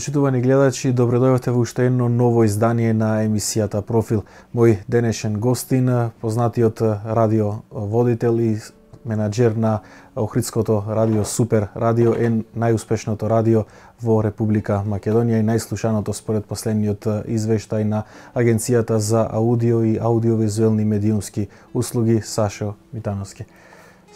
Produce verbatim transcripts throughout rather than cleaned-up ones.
Почитувани гледачи, добредојавте во уште едно ново издание на емисијата Профил. Мој денешен гостин, познатиот радиоводител и менаџер на Охридското радио Супер радио, е најуспешното радио во Република Македонија и најслушаното според последниот извештај на Агенцијата за аудио и аудиовизуелни медиумски услуги, Сашо Митановски.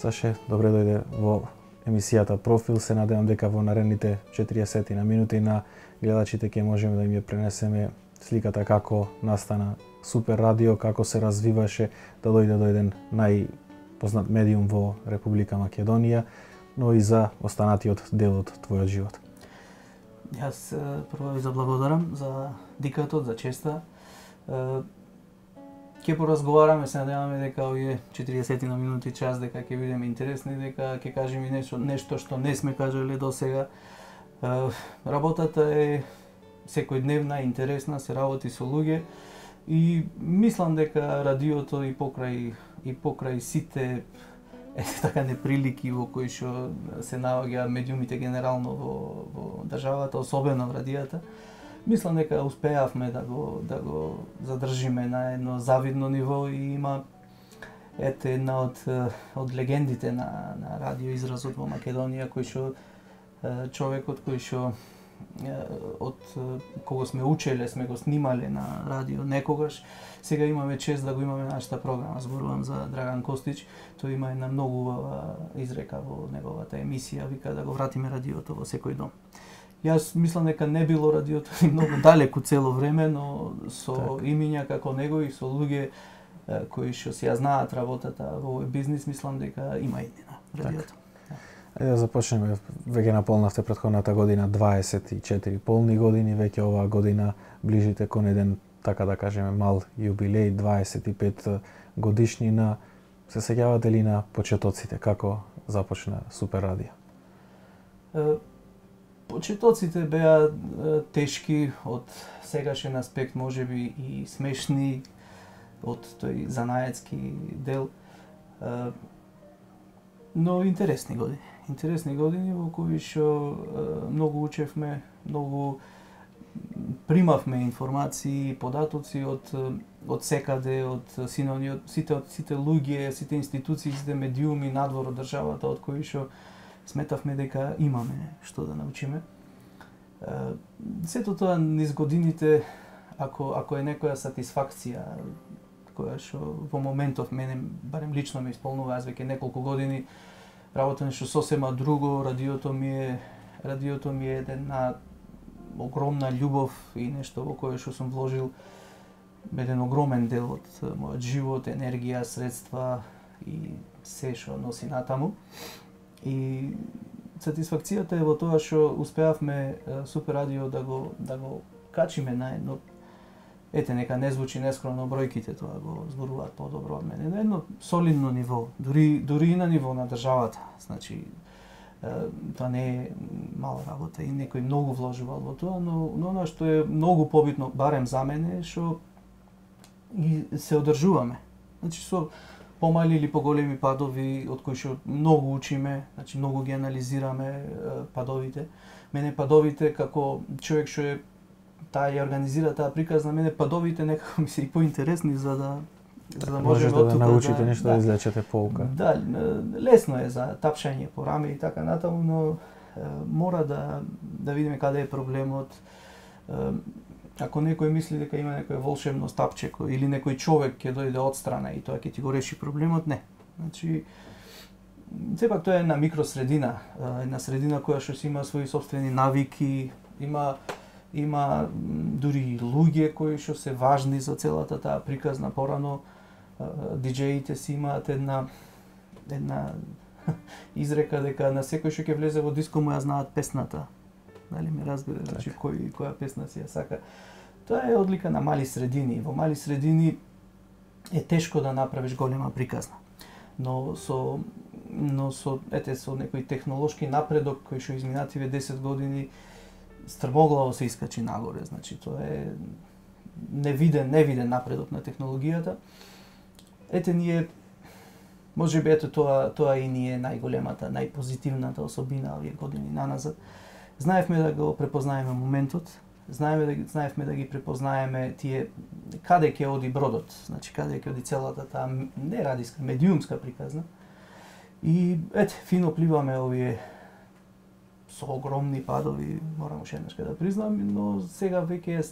Саше, добре дојде во емисијата Профил. Се надевам дека во наредните четириесет на минути на гледачите ќе можеме да им ја пренесеме сликата како настана Супер радио, како се развиваше да дојде до еден најпознат медиум во Република Македонија, но и за останатиот дел од твојот живот. Јас прво ви заблагодарам за дикатот, за честа. Ќе поразговараме, се надеваме дека овие четириесет на минути, час, дека ќе бидеме интересни, дека ќе кажеме нешто, нешто што не сме кажале до сега. Работата е секојдневна, интересна, се работи со луѓе и мислам дека радиото и покрај и покрај сите ете така неприлики во кои што се наоѓа медиумите генерално во, во државата, особено в радијата, мислам дека успеавме да го да го задржиме на едно завидно ниво и има ете една од од легендите на на радио изразот во Македонија, кој што човекот кој што од кого сме учеле, сме го снимале на радио некогаш, сега имаме чест да го имаме нашата програма. Зборувам за Драган Костич, тој има една многу изрека во неговата емисија, вика да го вратиме радиото во секој дом. Јас мислам дека не било радиото и многу далеку цело време, но со так. имиња како него и со луѓе кои што си ја знаат работата во овој бизнис, мислам дека има иднина радиото. Так. Ајде да започнеме. Веќе наполнавте претходната година дваесет и четири полни години, веќе оваа година ближите кон еден, така да кажеме, мал јубилеј, дваесет и пет годишнина. Се сеќавате ли на почетоците, како започна Супер радио? Почетоците беа тешки од сегашен аспект, можеби и смешни од тој занаетски дел, но интересни години. Интересни години во кои што многу учевме, многу примавме информации, податоци од од секаде, од синони, од сите од сите луѓе, сите институции, сите медиуми надвор од државата, од кои што сметавме дека имаме што да научиме. Сето тоа низ годините, ако ако е некоја сатисфакција која што во моментов мене барем лично ме исполнува, аз веќе неколку години работам нешто сосема друго, радиото ми е радиото ми е една огромна љубов и нешто во кое што сум вложил еден огромен дел од мојот живот, енергија, средства и се што носи натаму. И сатисфакцијата е во тоа што успеавме Супер радио да го да го качиме на едно, ете нека не звучи нескромно, бројките тоа го зборуваат подобро од мене, на едно солидно ниво, дури дури и на ниво на државата. Значи тоа не е мала работа и некој многу вложувал во тоа, но но она што е многу побитно, барем за мене, што и се одржуваме. Значи со помали или поголеми падови од кои што многу учиме, значи многу ги анализираме падовите. Мене падовите како човек што е таа ја организира таа приказна, мене падовите некако ми се и поинтересни за да за да можеме да, да научите да, нешто, да, да извлечете поука. Да, лесно е за тапшање по раме и така натаму, но е, мора да да видиме каде е проблемот. Е, ако некој мисли дека има некој волшебно стапче или некој човек ќе дојде одстрана и тоа ќе ти го реши проблемот, не. Значи сепак тоа е една микросредина, една средина која што си има своји сопствени навики, има има дури луѓе кои што се важни за целата таа приказна. Порано диџеите си имаат една една изрека дека на секој што ќе влезе во диско му ја знаат песната. Дали ме разбира, значи кој која песна си ја сака. Тоа е одлика на мали средини. Во мали средини е тешко да направиш голема приказна. Но со но со ете со некој технолошки напредок кој што изминативе десет години стрмоглаво се искачи нагоре, значи тоа е невиден, невиден напредок на технологијата. Ете ние можеби ето тоа тоа и ни е најголемата, најпозитивната особина овие години наназад, Знаевме да го препознаеме моментот, знаеме да знаевме да ги препознаеме тие каде ќе оди бродот, значи каде ќе оди целата таа не радиска, медиумска приказна. И ете, фино пливаме овие со огромни падови, морам уште еднаш да признам, но сега веќе е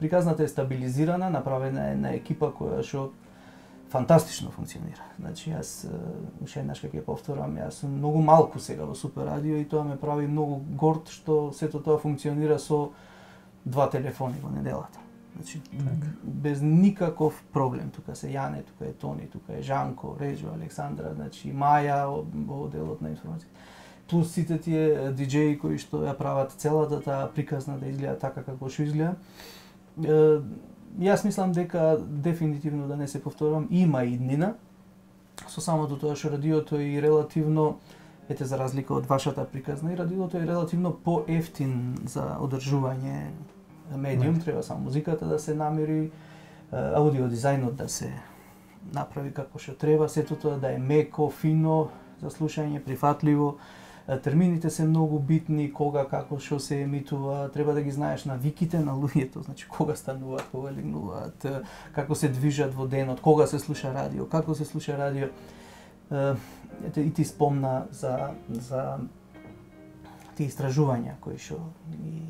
приказната е стабилизирана, направена е на екипа која што фантастично функционира. Значи јас уште еднаш ќе повторам, јас сум многу малку сега во Супер радио и тоа ме прави многу горд што сето тоа функционира со два телефони во неделата. Значи так. Без никаков проблем. Тука се Јане, тука е Тони, тука е Жанко, Реджо, Александра, значи Маја во делот на информација. Плюс сите тие диџеи кои што ја прават целата таа приказна да изгледа така како што изгледа. Е, јас мислам дека дефинитивно да не се повторам, има иднина со самото тоа што радиото е и релативно, ете за разлика од вашата приказна, и радиото е релативно поевтин за одржување медиум, треба само музиката да се намери, аудио дизајнот да се направи како што треба, сето тоа да е меко, фино за слушање, прифатливо. Термините се многу битни, кога, како, што се емитува, треба да ги знаеш навиките на луѓето, значи кога стануваат, кога легнуваат, како се движат во денот, кога се слуша радио, како се слуша радио. Ете, и ти спомна за, за тие истражувања кои што и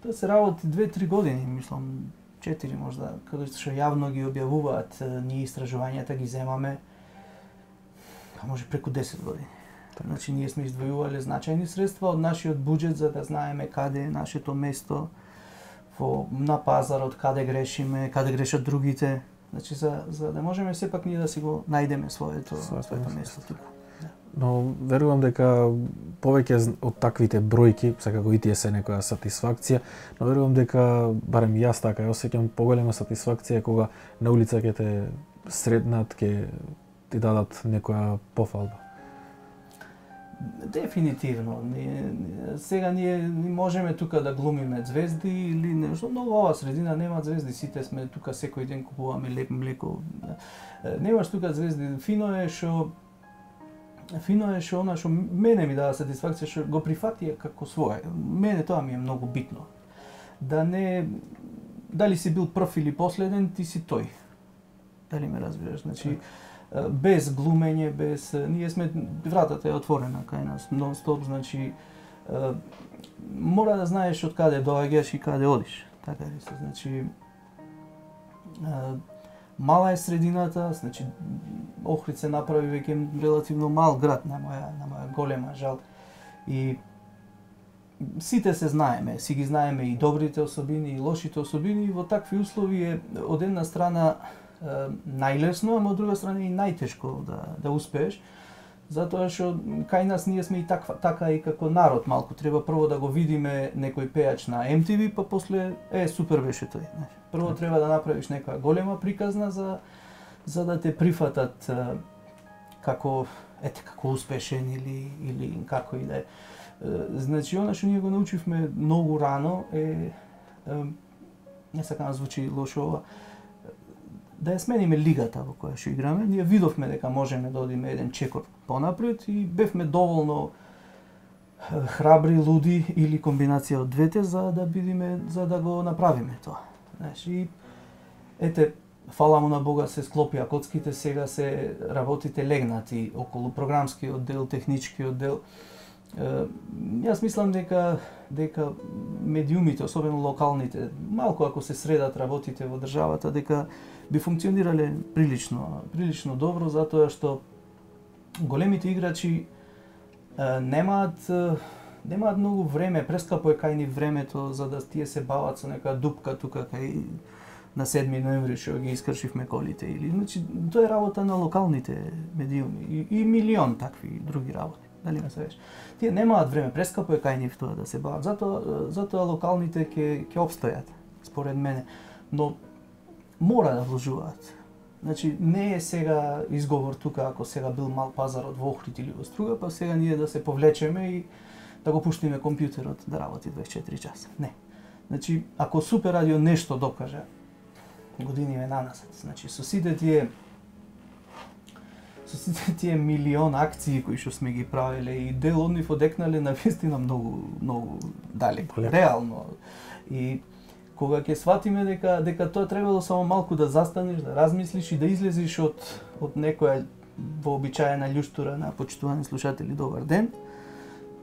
тоа се работи две-три години, мислам, четири можда, кога што јавно ги објавуваат ние истражувањата, ги земаме, па може преку десет години. Значи ние сме издвојувале значајни средства од нашиот буџет за да знаеме каде е нашето место во на пазарот, каде грешиме, каде грешат другите. Значи за за да можеме сепак ние да си го најдеме своето своето место тука. Но верувам дека повеќе од таквите бројки, секако и тие се некоја сатисфакција, но верувам дека барем јас така ја осеќам поголема сатисфакција кога на улица ќе те сретнат, ќе ти дадат некоја пофалба. Дефинитивно. Ние, сега ние не можеме тука да глумиме звезди или нешто, но во оваа средина нема звезди, сите сме тука секој ден купуваме леп млеко. Немаш тука звезди. Фино е што фино е што она што мене ми дава сатисфакција што го прифати како свое. Мене тоа ми е многу битно. Да не дали си бил прв или последен, ти си тој. Дали ме разбираш? Значи без глумење, без ние сме вратата е отворена кај нас нон-стоп, значи мора да знаеш од каде доаѓаш и каде одиш. Така ли се, значи мала е средината, значи Охрид се направи веќе релативно мал град на моја на моја голема жал. И сите се знаеме, си ги знаеме и добрите особини и лошите особини, и во такви услови е од една страна најлесно, ама од друга страна и најтешко да да успееш, затоа што кај нас ние сме и таква, така и како народ малку, треба прво да го видиме некој пејач на Ем Ти Ви, па после е супер беше тој. Прво треба да направиш некоја голема приказна за за да те прифатат како ете како успешен или или како и да е. Значи она што ние го научивме многу рано е, не сакам да звучи лошо ова, да ја смениме лигата во која што играме. Ние видовме дека можеме да одиме еден чекор понапред и бевме доволно храбри, луди или комбинација од двете за да бидиме, за да го направиме тоа. Знаеш, и ете, фала му на Бога се склопија коцките, сега се работите легнати околу програмскиот дел, техничкиот дел. Јас мислам дека дека медиумите, особено локалните, малку ако се средат работите во државата, дека би функционирале прилично, прилично добро, затоа што големите играчи е, немаат немаат многу време, прескапо е кај нив времето за да тие се бават со некоја дупка тука кај на седми ноември што ги искршивме колите или значи тоа е работа на локалните медиуми и, и милион такви други работи. Дали ме свеш? Тие немаат време, прескапо е кај нив тоа да се бават. Затоа затоа локалните ќе ќе опстојат според мене. Но мора да вложуваат. Значи не е сега изговор тука ако сега бил мал пазарот во Охрид или во Струга, па сега ние да се повлечеме и да го пуштиме компјутерот да работи дваесет и четири часа. Не. Значи ако Супер радио нешто докаже години е наназад, значи со сите тие со сите тие милион акции кои што сме ги правеле и дел од нив одекнале на вистина многу многу далеко, реално. И кога ќе сватиме дека дека тоа требало само малку да застанеш, да размислиш и да излезеш од од некоја вообичаена љуштура на почитувани слушатели, добар ден,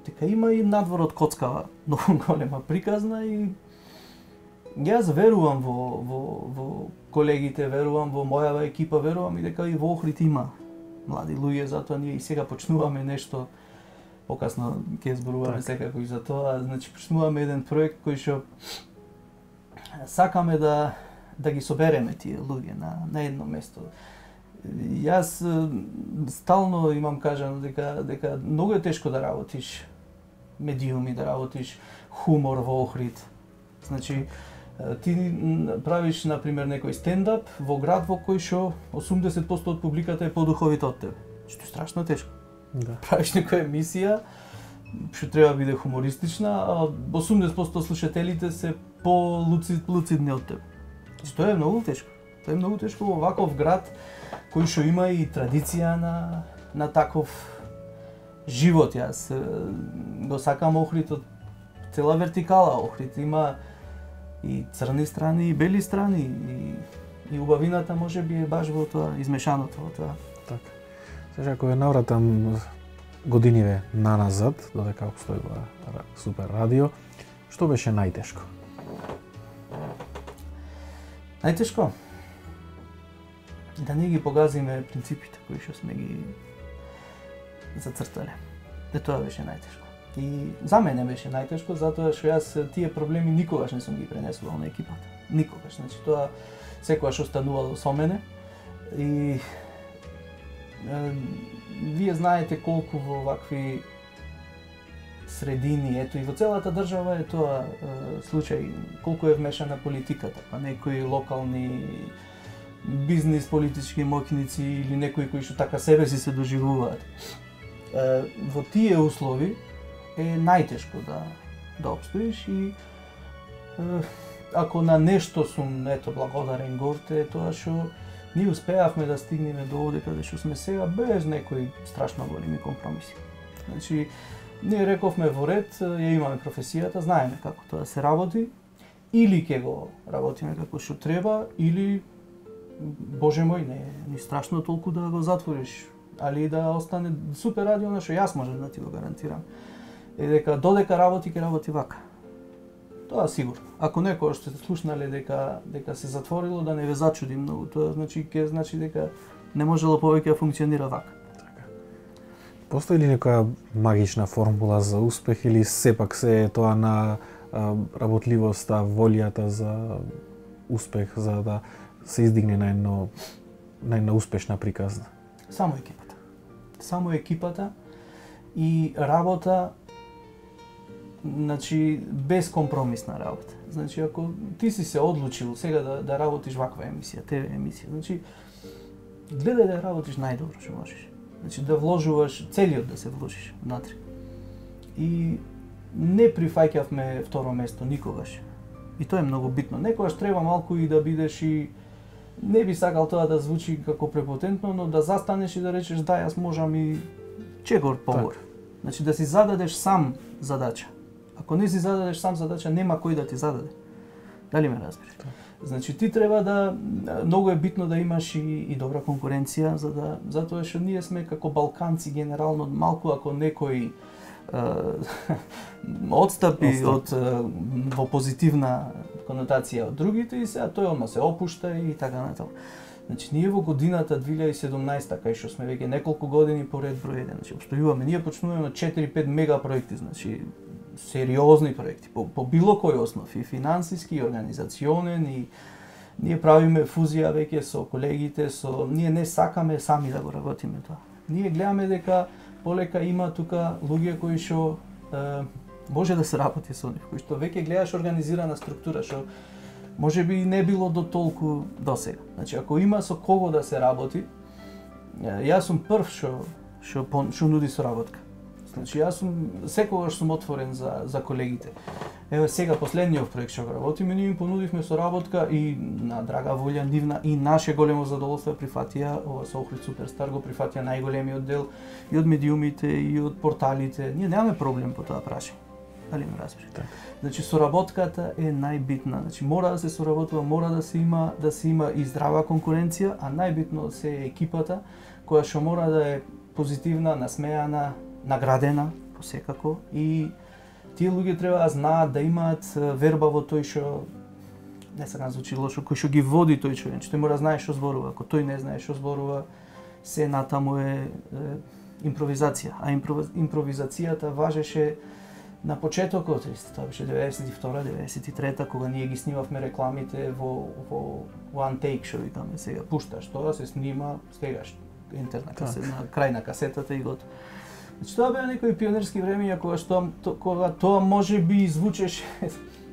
дека има и надвор од коцкава многу голема приказна и јас верувам во во во колегите, верувам во мојава екипа, верувам и дека и во Охрид има млади луѓе, затоа ние и сега почнуваме нешто, покасно ќе зборуваме секако и за тоа, значи почнуваме еден проект кој што сакаме да да ги собереме тие луѓе на на едно место. Јас стално имам кажано дека дека многу е тешко да работиш медиуми, да работиш хумор во Охрид. Значи ти правиш на пример некој стендап во град во кој што осумдесет проценти од публиката е подуховит од тебе. Што е страшно тешко. Да. Правиш некоја емисија што треба да биде хумористична, а осумдесет проценти од слушателите се по-луцидни од тебе. Тоа е многу тешко. Тоа е многу тешко во ваков град кој што има и традиција на на таков живот. Јас го сакам Охрид од цела вертикала. Охрид има и црни страни, и бели страни, и, и убавината може би е баш во тоа, измешаното во тоа. Така. Сега ако ја навратам годиниве наназад, додека обстојува Супер радио, што беше најтешко? Најтешко? Да не ги погазиме принципите кои што сме ги зацртале. Де тоа беше најтешко. И за мене беше најтешко, затоа што јас тие проблеми никогаш не сум ги пренесувал на екипата. Никогаш. Значи тоа секогаш останувало со мене. И е, вие знаете колку во вакви средини, ето и во целата држава е тоа е, случај, колку е вмешана политиката, па некои локални бизнис политички моќници или некои кои што така себе си се доживуваат. Е, во тие услови е најтешко да да обстоиш и е, ако на нешто сум ето благодарен горте, тоа што ние успеавме да стигнеме до овде каде што сме сега без некои страшно големи компромиси. Значи ние рековме во ред, ја имаме професијата, знаеме како тоа се работи, или ќе го работиме како што треба, или боже мој, не ни страшно толку да го затвориш, али да остане Супер радио, на што јас можам да ти го гарантирам. Е дека додека работи, ќе работи вака. Тоа сигурно. Ако некој што сте слушнале дека дека се затворило, да не ве зачуди многу, тоа значи ќе значи дека не можело повеќе да функционира вака. Така. Постои ли некоја магична формула за успех или сепак се е тоа на а, работливоста, волјата за успех, за да се издигне на едно на една успешна приказна? Само екипата. Само екипата и работа, значи без компромисна работа. Значи ако ти си се одлучил сега да да работиш ваква емисија, те ве емисија, значи гледај да работиш најдобро што можеш. Значи да вложуваш целиот да се вложиш внатре. И не прифаќавме второ место никогаш. И тоа е многу битно. Некогаш треба малку и да бидеш и не би сакал тоа да звучи како препотентно, но да застанеш и да речеш да, јас можам и чегор погор. Значи да си зададеш сам задача. Ако не си зададеш сам задача, нема кој да ти зададе. Дали ме разбираш? Значи ти треба да многу е битно да имаш и, и добра конкуренција, за да затоа што ние сме како балканци генерално малку ако некој отстапи Остап. од во позитивна конотација од другите и сега тој одма се опушта и така натаму. Значи ние во годината две илјади и седумнаесета, кај што сме веќе неколку години поред број еден, значи обстојуваме, ние почнуваме од четири-пет мега проекти, значи сериозни проекти по, по било кој основ, и финансиски, и организационен, и ние правиме фузија веќе со колегите, со ние не сакаме сами да го работиме тоа. Ние гледаме дека полека има тука луѓе кои што е, може да се работи со нив, кои што веќе гледаш организирана структура, што може би не било до толку досега. Значи ако има со кого да се работи, јас сум прв што што што нуди соработка. Значи јас сум секогаш сум отворен за за колегите. Еве сега последниот проект што го работиме, ние им понудивме соработка и на драга волја нивна и наше големо задоволство прифатија, ова со Охрид Суперстар го прифатија најголемиот дел и од медиумите и од порталите. Ние немаме проблем по тоа прашање. Дали ме разбираш? Так. Значи соработката е најбитна. Значи мора да се соработува, мора да се има да се има и здрава конкуренција, а најбитно се е екипата која што мора да е позитивна, насмеана, наградена посекако и тие луѓе треба да знаат да имаат верба во тој што не сакам звучи лошо, кој што ги води тој човек. Тој мора да знае што зборува, ако тој не знае што зборува, се натаму е, е импровизација, а импров, импровизацијата важеше на почетокот, тоа беше деветдесет и втора деветдесет и трета кога ние ги снимавме рекламите во во one take што викаме сега, пушташ тоа, се снима, стегаш интерна касета, на крај на касетата и готово. Значи тоа беа некои пионерски времења кога што то, кога тоа може би звучеше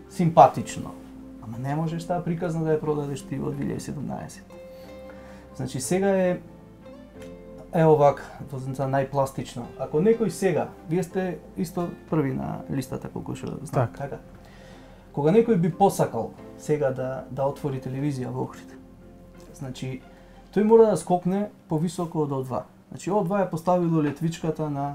симпатично, ама не можеш таа приказна да ја продадеш ти во две илјади и седумнаесет. Значи сега е е овак, за најпластично. Ако некој сега, вие сте исто први на листата колку што знам, так. така. Кога некој би посакал сега да да отвори телевизија во Охрид, значи тој мора да скокне повисоко од О два. Значи О два е поставило летвичката на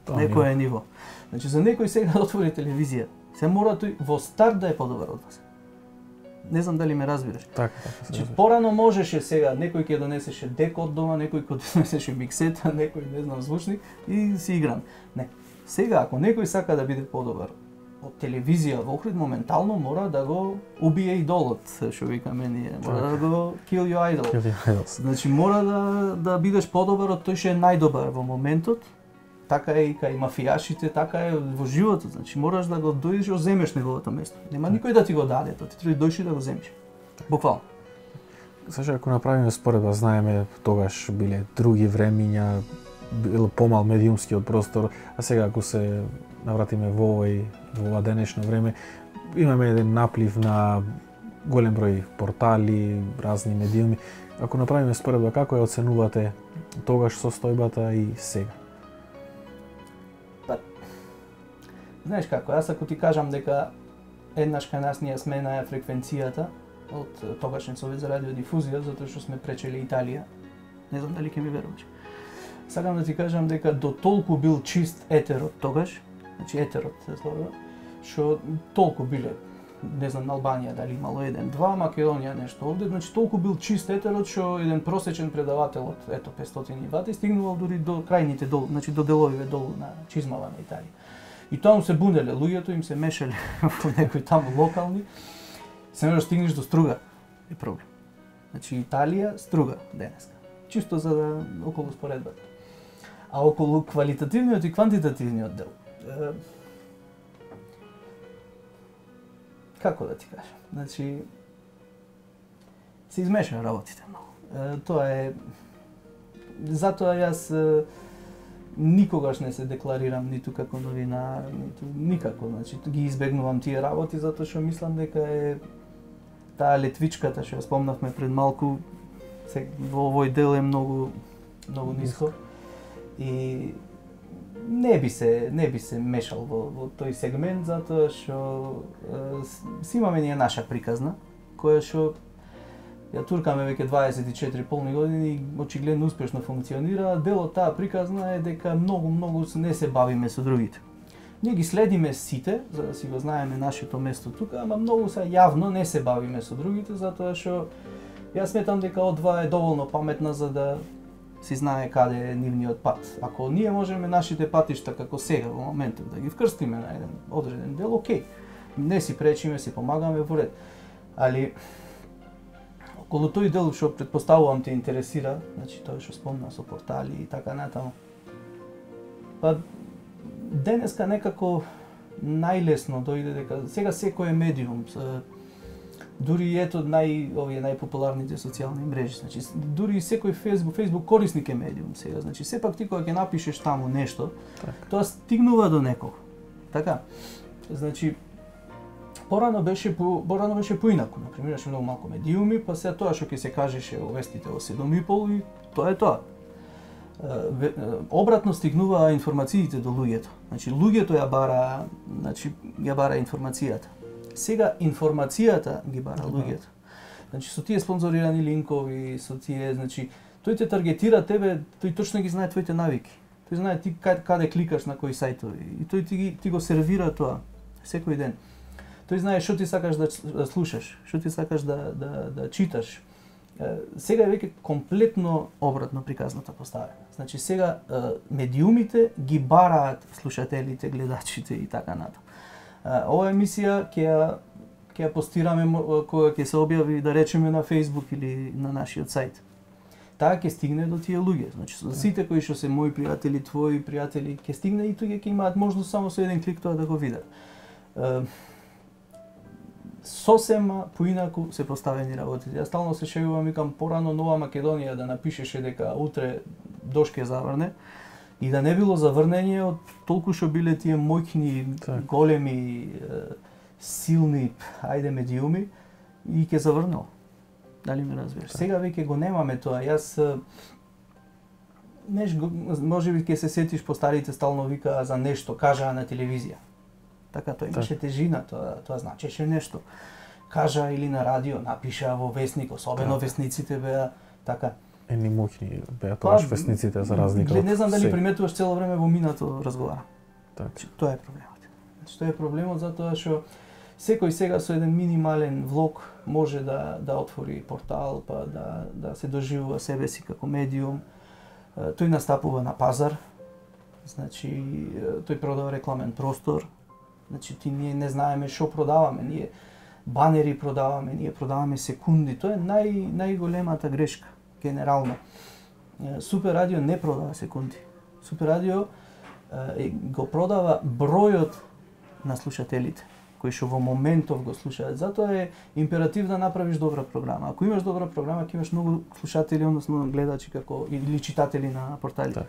некое ниво. Значи за некој сега да отвори телевизија, се мора тој во старт да е подобар од вас. Не знам дали ме разбираш. Така, така. Значи порано можеше сега некој ќе донесеше дек од дома, некој ќе донесеше миксета, некој не знам звучник и си играм. Не. Сега ако некој сака да биде подобар од телевизија во Охрид, моментално мора да го убие идолот, што викаме ние, мора да го kill your idol. Kill your idols. Значи мора да да бидеш подобар од тој што е најдобар во моментот. Така е и кај мафијашите, така е во животот. Значи мораш да го дојдеш и земеш неговото место. Нема никој да ти го даде, тоа ти треба да дојши да го земеш. Буквално. Саша, ако направиме споредба, знаеме тогаш биле други времиња, бил помал медиумскиот простор, а сега ако се навратиме во овој во ова денешно време, имаме еден наплив на голем број портали, разни медиуми. Ако направиме споредба, како ја оценувате тогаш состојбата и сега? Знаеш како, јас ако ти кажам дека еднаш кај нас ние сменаја фреквенцијата од тогашен Совет за радиодифузија, затоа што сме пречеле Италија, не знам дали ќе ми веруваш. Сакам да ти кажам дека до толку бил чист етерот тогаш, значи етерот се зборува, што толку биле, не знам на Албанија дали имало еден, два, Македонија нешто овде, значи толку бил чист етерот што еден просечен предавател од ето петстотини вати стигнувал дури до крајните долу, значи до деловиве долу на чизмава на Италија. И таму се бунеле луѓето, им се мешале во некои таму локални. Се можеш стигнеш до Струга е проблем. Значи Италија, Струга денеска. Чисто за да околу споредбата. А околу квалитативниот и квантитативниот дел. Е, како да ти кажам? Значи се измешаат работите многу. Е, тоа е затоа јас никогаш не се декларирам ниту како новинар, ниту никако, значи ги избегнувам тие работи затоа што мислам дека е таа летвичката што ја спомнавме пред малку се, во овој дел е многу многу ниско и не би се не би се мешал во, во тој сегмент затоа што си имаме ние наша приказна која што ја туркаме веќе дваесет и четири полни години и очигледно успешно функционира. Дел од таа приказна е дека многу многу не се бавиме со другите. Ние ги следиме сите за да си го знаеме нашето место тука, ама многу се јавно не се бавиме со другите затоа што јас сметам дека О два е доволно паметна за да си знае каде е нивниот пат. Ако ние можеме нашите патишта како сега во моментот да ги вкрстиме на еден одреден дел, окей. Не си пречиме, си помагаме во ред. Али околу тој дел што претпоставувам те интересира, значи тоа што спомна со портали и така натаму. Па денеска некако најлесно дојде дека сега секој е медиум. Дури ето нај овие најпопуларните социјални мрежи, значи дури секој Facebook, Facebook корисник е медиум сега. Значи сепак ти кога ќе напишеш таму нешто, так. Тоа стигнува до некого. Така. Значи порано беше по порано беше поинаку, на пример, имаше многу малку медиуми, па се тоа што ќе се кажеше во вестите во седум и пол и тоа е тоа. обратно стигнува информациите до луѓето. Значи луѓето ја бара, значи ја бара информацијата. Сега информацијата ги бара луѓето. Значи со тие спонзорирани линкови, со тие, значи тој те таргетира тебе, тој точно ги знае твоите навики. Тој знае ти каде, каде кликаш на кои сајтови и тој ти, ти го сервира тоа секој ден. Тој знае што ти сакаш да, да слушаш, што ти сакаш да, да, да читаш. Сега е веќе комплетно обратно приказната поставена. Значи сега медиумите ги бараат слушателите, гледачите и така натаму. Ова емисија ќе ја ќе ја постираме кога ќе се објави, да речеме, на Facebook или на нашиот сајт. Таа ќе стигне до тие луѓе. Значи со сите кои што се мои пријатели, твои пријатели, ќе стигне и тој ќе имаат можност само со еден клик тоа да го видат. Сосема поинаку се поставени работите. Јас стално се шегувам, викам, порано Нова Македонија да напишеше дека утре дожд ќе заврне и да не било заврнење од толку што биле тие моќни, так, големи, силни, ајде, медиуми, и ќе заврнел. Дали ме разбираш? Сега веќе го немаме тоа. Јас неш, можеби ќе се сетиш, по старите стално викаа за нешто, кажаа на телевизија. Така, тоа имаше тежина, тоа, тоа значеше нешто. Кажа или на радио, напиша во весник, особено так, весниците беа така. Ени моќни беа тоа весниците за разлика од... Не знам дали приметуваш, цело време во минато разговара. Так. Тоа е проблемот. Значи, тоа е проблемот затоа што секој сега со еден минимален влог може да да отвори портал, па да да се доживува себе си како медиум. Тој настапува на пазар. Значи тој продава рекламен простор. Значи ти ние не знаеме што продаваме, ние банери продаваме, ние продаваме секунди. Тоа е нај најголемата грешка генерално. Супер радио не продава секунди. Супер радио е, го продава бројот на слушателите кои што во моментов го слушаат. Затоа е императив да направиш добра програма. Ако имаш добра програма, ќе имаш многу слушатели, односно гледачи како или читатели на порталите. Да.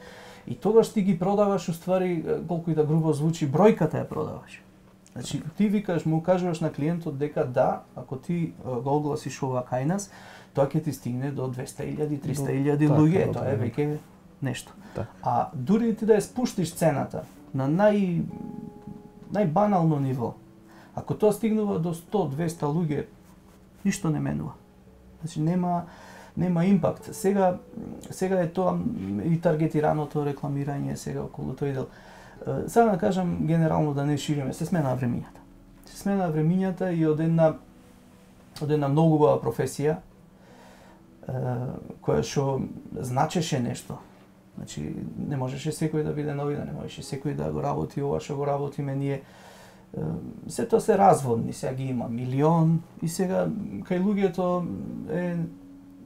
И тогаш ти ги продаваш, уствари, колку и да грубо звучи, бројката ја продаваш. Значи, ти викаш, му кажуваш на клиентот дека да, ако ти го огласиш ова кај нас, тоа ќе ти стигне до двесте илјади, триста илјади луѓе, тоа е веќе нешто. Да. А дури ти да ја спуштиш цената на нај најбанално ниво, ако тоа стигнува до сто до двесте луѓе, ништо не менува. Значи нема нема импакт. Сега сега е тоа и таргетираното рекламирање сега околу тој дел. Сега да кажам генерално, да не шириме, се смена времињата. Се смена времињата и од една од една многу убава професија која што значеше нешто. Значи не можеше секој да биде новина, не можеше секој да го работи ова што го работиме ние. Се тоа се разводни, сега ги има милион и сега кај луѓето е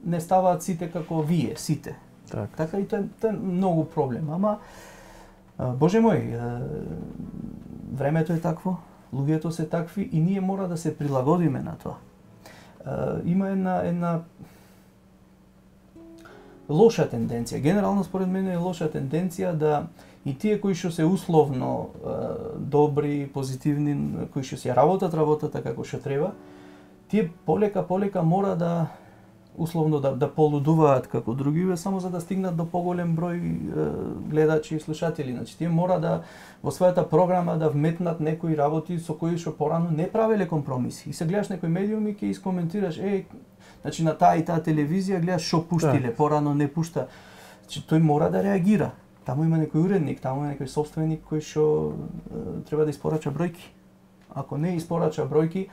не ставаат сите како вие, сите. Так. Така и тоа, тоа е многу проблем, ама Боже мој, времето е такво, луѓето се такви и ние мора да се прилагодиме на тоа. Има една една лоша тенденција, генерално според мене е лоша тенденција да и тие кои што се условно добри, позитивни, кои што се работат работата како што треба, тие полека полека мора да условно да, да полудуваат како другиве, само за да стигнат до поголем број е, гледачи и слушатели. Значи, тие мора да во својата програма да вметнат некои работи со кои што порано не правеле компромиси. И се гледаш некој медиум и ќе искоментираш, е, значи на таа и таа телевизија гледаш што пуштиле, да, порано не пушта. Значи, тој мора да реагира. Таму има некој уредник, таму има некој собственик кој што е, треба да испорача бројки. Ако не испорача бројки,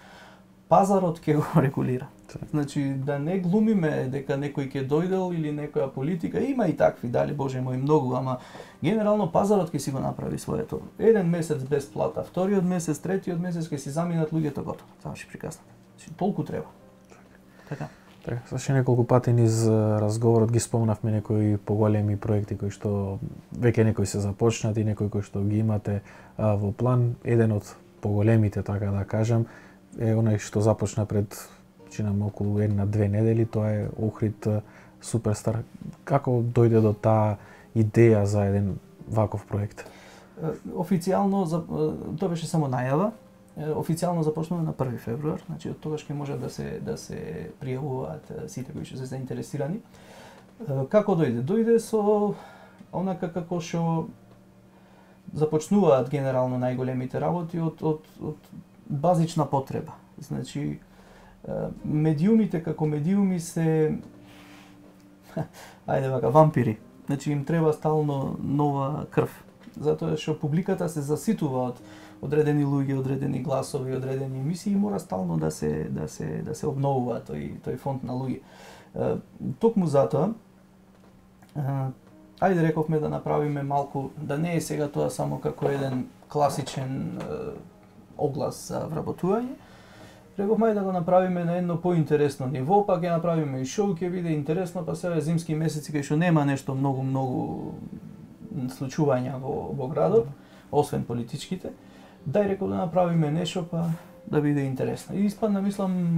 пазарот ќе го регулира. Значи, да не глумиме дека некој ќе дојдел или некоја политика, има и такви, дали Боже мој, многу, ама генерално пазарот ќе си го направи своето. Еден месец без плата, вториот месец, третиот месец ќе си заминат луѓето, готово. Заврши приказната. Значи, толку треба. Така. Така, саше неколку пати низ разговорот ги спомнавме некои поголеми проекти кои што веќе некои се започнати, некои кои што ги имате а, во план. Еден од поголемите, така да кажам, е онај што започна пред чинам околу една-две недели, тоа е Охрид Суперстар. Како дојде до таа идеја за еден ваков проект? Официјално, тоа беше само најава, официјално започнува на први февруар, значи од тогаш ќе можат да се да се пријавуваат сите кои што се заинтересирани. Како дојде? Дојде со онака како што започнуваат генерално најголемите работи од од од базична потреба. Значи медиумите како медиуми се ајде вака вампири. Значи им треба стално нова крв. Затоа што публиката се заситува од одредени луѓе, одредени гласови, одредени емисии и мора стално да се да се да се обновува тој тој фонд на луѓе. Токму затоа ајде рековме да направиме малку, да не е сега тоа само како еден класичен оглас за вработување. Рековме да го направиме на едно поинтересно ниво, па ќе направиме и шоу, ќе биде интересно, па сега зимски месеци кај што нема нешто многу многу случувања во во градот, освен политичките. Дај реков да направиме нешто па да биде интересно. И испадна, мислам,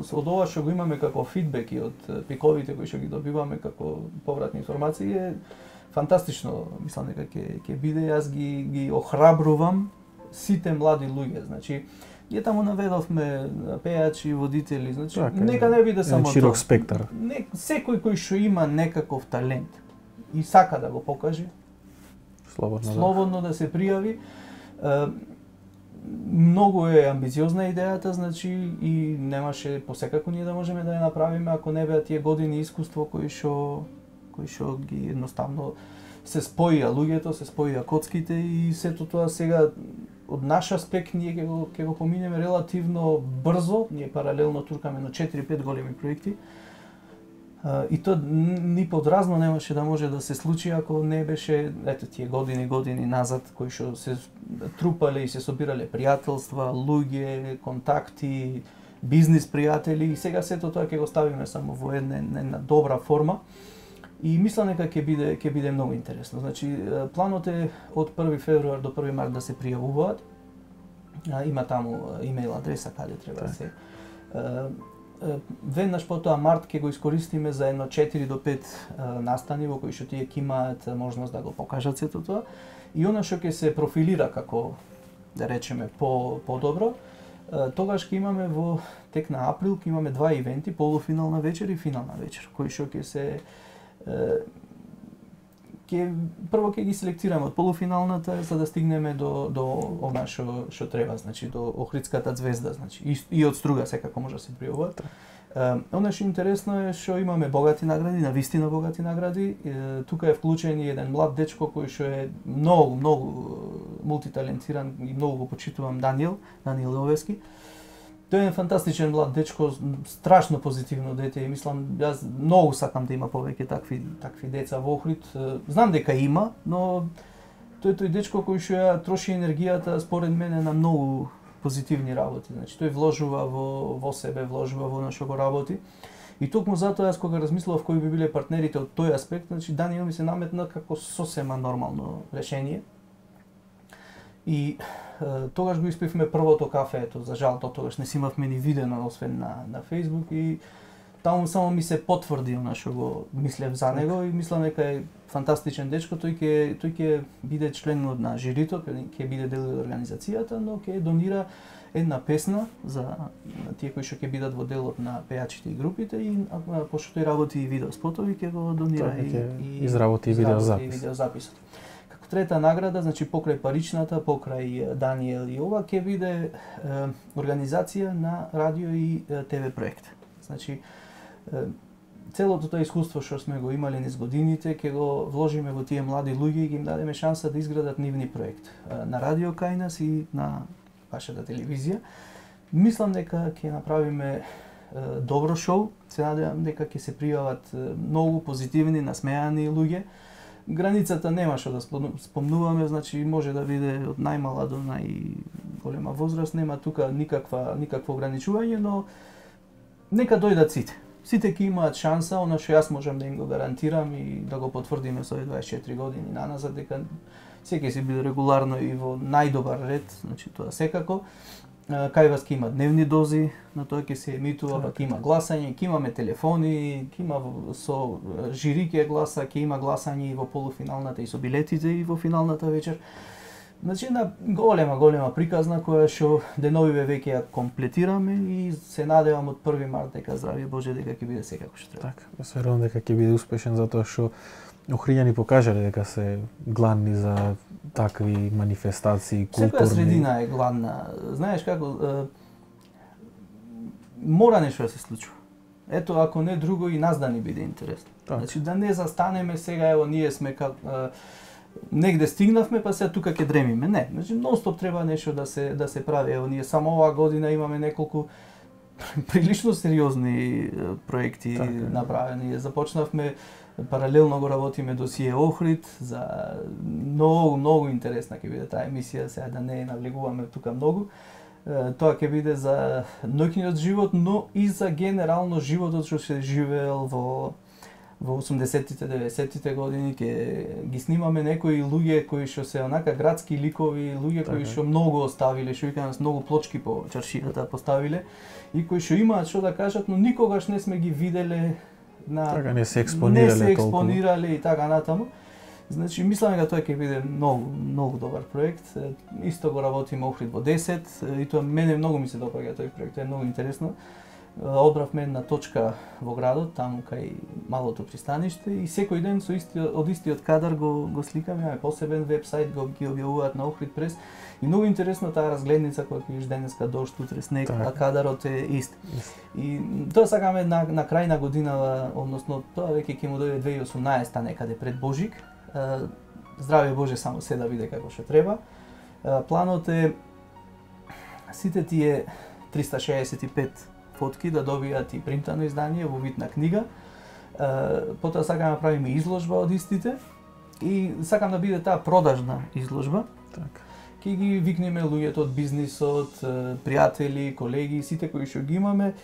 од ова што го имаме како фидбек и од пиковите кои што ги добиваме како повратни информации е фантастично, мислам дека ќе ќе биде. Јас ги ги охрабрувам сите млади луѓе, значи ние таму наведовме пејачи, водители, значи така, нека не биде само тоа. Широк спектар. Не, секој кој што има некаков талент и сака да го покаже, слободно, слободно да, да се пријави. Многу е амбициозна идејата, значи и немаше посекако ние да можеме да ја направиме ако не беа тие години искуство кои што кои што ги едноставно се споија луѓето, се споија коцките и сето тоа сега од наш аспект ние ќе го ќе го поминеме релативно брзо, ние паралелно туркаме на четири-пет големи проекти. И тоа ни подразно немаше да може да се случи ако не беше ето тие години години назад кои што се трупале и се собирале пријателства, луѓе, контакти, бизнис пријатели и сега сето тоа ќе го ставиме само во една една добра форма. И мислам дека ќе биде ќе биде многу интересно. Значи планот е од први февруар до први март да се пријавуваат. Има таму имејл адреса каде треба да се веднаш потоа март ќе го искористиме за едно четири до пет настани во кои што тие ќе имаат можност да го покажат сето тоа и она што ќе се профилира како да речеме по подобро, тогаш ќе имаме во тек на април ќе имаме два ивенти, полуфинална вечер и финална вечер, кои што ќе се ќе прво ќе ги селектираме од полуфиналната за да стигнеме до до она што што треба, значи до Охридската звезда, значи и, и од Струга секако може да се пријавуваат. Она што интересно е што имаме богати награди, навистина богати награди. Е, тука е вклучен и еден млад дечко кој што е многу многу мултиталентиран и многу го почитувам, Даниел, Даниел Овески. Тој е фантастичен млад дечко, страшно позитивно дете и мислам јас многу сакам да има повеќе такви такви деца во Охрид. Знам дека има, но тој тој дечко кој што ја троши енергијата според мене на многу позитивни работи. Значи тој вложува во во себе, вложува во она што го работи. И токму затоа јас кога размислував кои би биле партнерите од тој аспект, значи Даниел ми се наметна како сосема нормално решение. И е, тогаш го испивме првото кафе, ето, за жал до тогаш не си имавме ни видено освен на на Facebook и таму само ми се потврди она што го мислев за него и мислам дека е фантастичен дечко, тој ќе тој ќе биде член на жирито, ќе биде дел од организацијата, но ќе донира една песна за тие кои што ќе бидат во делот на пејачите и групите и пошто тој работи и видео спотови ќе го донира и, и изработи и видео запис. Видео записот. Трета награда, значи покрај паричната, покрај Даниел и ова, ќе биде е, организација на радио и е, ТВ проект. Значи, е, целото тоа искуство што сме го имали низ годините, ќе го вложиме во тие млади луѓе и ги им дадеме шанса да изградат нивни проект. Е, на радио кај нас и на вашата телевизија. Мислам дека ќе направиме е, добро шоу, се надевам дека ќе се пријават многу позитивни, насмеани луѓе. Границата нема што да спомнуваме, значи може да биде од најмала до најголема возраст, нема тука никаква никакво ограничување, но нека дојдат сите. Сите ќе имаат шанса, она што јас можам да им го гарантирам и да го потврдиме со овие дваесет и четири години наназад, дека секој ќе биде регуларно и во најдобар ред, значи тоа секако. Кај вас ќе има дневни дози, на тоа ќе се емитува, па ќе има гласање, ќе имаме телефони, ќе има со жири ќе гласа, ќе има гласање и во полуфиналната и со билетите и во финалната вечер. Значи една голема, голема приказна која што деновиве веќе ја комплетираме и се надевам од први март дека здравје Боже дека ќе биде секако што треба. Така, јас верувам дека ќе биде успешен затоа што Охриѓани покажале дека се гладни за такви манифестации, културни. Секоја средина е гладна. Знаеш како, мора нешто да се случува. Ето, ако не друго, и нас да ни биде интересно. Так. Значи, да не застанеме сега, ево, ние сме как, а, негде стигнавме, па сега тука ќе дремиме. Не, значи, нон-стоп треба нешто да се, да се прави. Ево, ние само оваа година имаме неколку прилично сериозни проекти така, направени. Започнавме, паралелно го работиме досие Охрид, за многу, многу интересна ќе биде таа емисија, сега да не навлегуваме тука многу. Тоа ќе биде за ноќниот живот, но и за генерално животот што се живеел во во осумдесеттите, деветдесеттите години. Ќе ги снимаме некои луѓе кои што се онака градски ликови, луѓе кои што многу оставиле, што викаме многу плочки по чаршијата поставиле и кои што имаат што да кажат, но никогаш не сме ги виделе на така не се експонирале не се експонирале толку. И така натаму. Значи, мислам дека тоа ќе биде многу, многу добар проект. Исто го работиме Охрид во десет, и тоа мене многу ми се допаѓа тој проект, е многу интересно. Одбравме една точка во градот, таму кај малото пристаниште, и секој ден со истиот, од истиот кадар го, го сликаме, имаме посебен вебсайт, го ги објавуваат на Охрид Прес. И многу интересно таа разгледница која ќе видиш денеска дожд, утре снег, так. А кадарот е ист. И тоа сакаме на, на крај на годинава, односно тоа веќе ќе му дојде две илјади и осумнаесета некаде пред Божик. Здраве Боже, само се да биде како што треба. Планот е сите тие триста шеесет и пет фотки да добијат и принтано издание во вид на книга. Потоа сакаме да правиме изложба од истите и сакам да биде таа продажна изложба. Така. Ќе ги викнеме луѓето од бизнисот, пријатели, колеги, сите кои што ги имаме,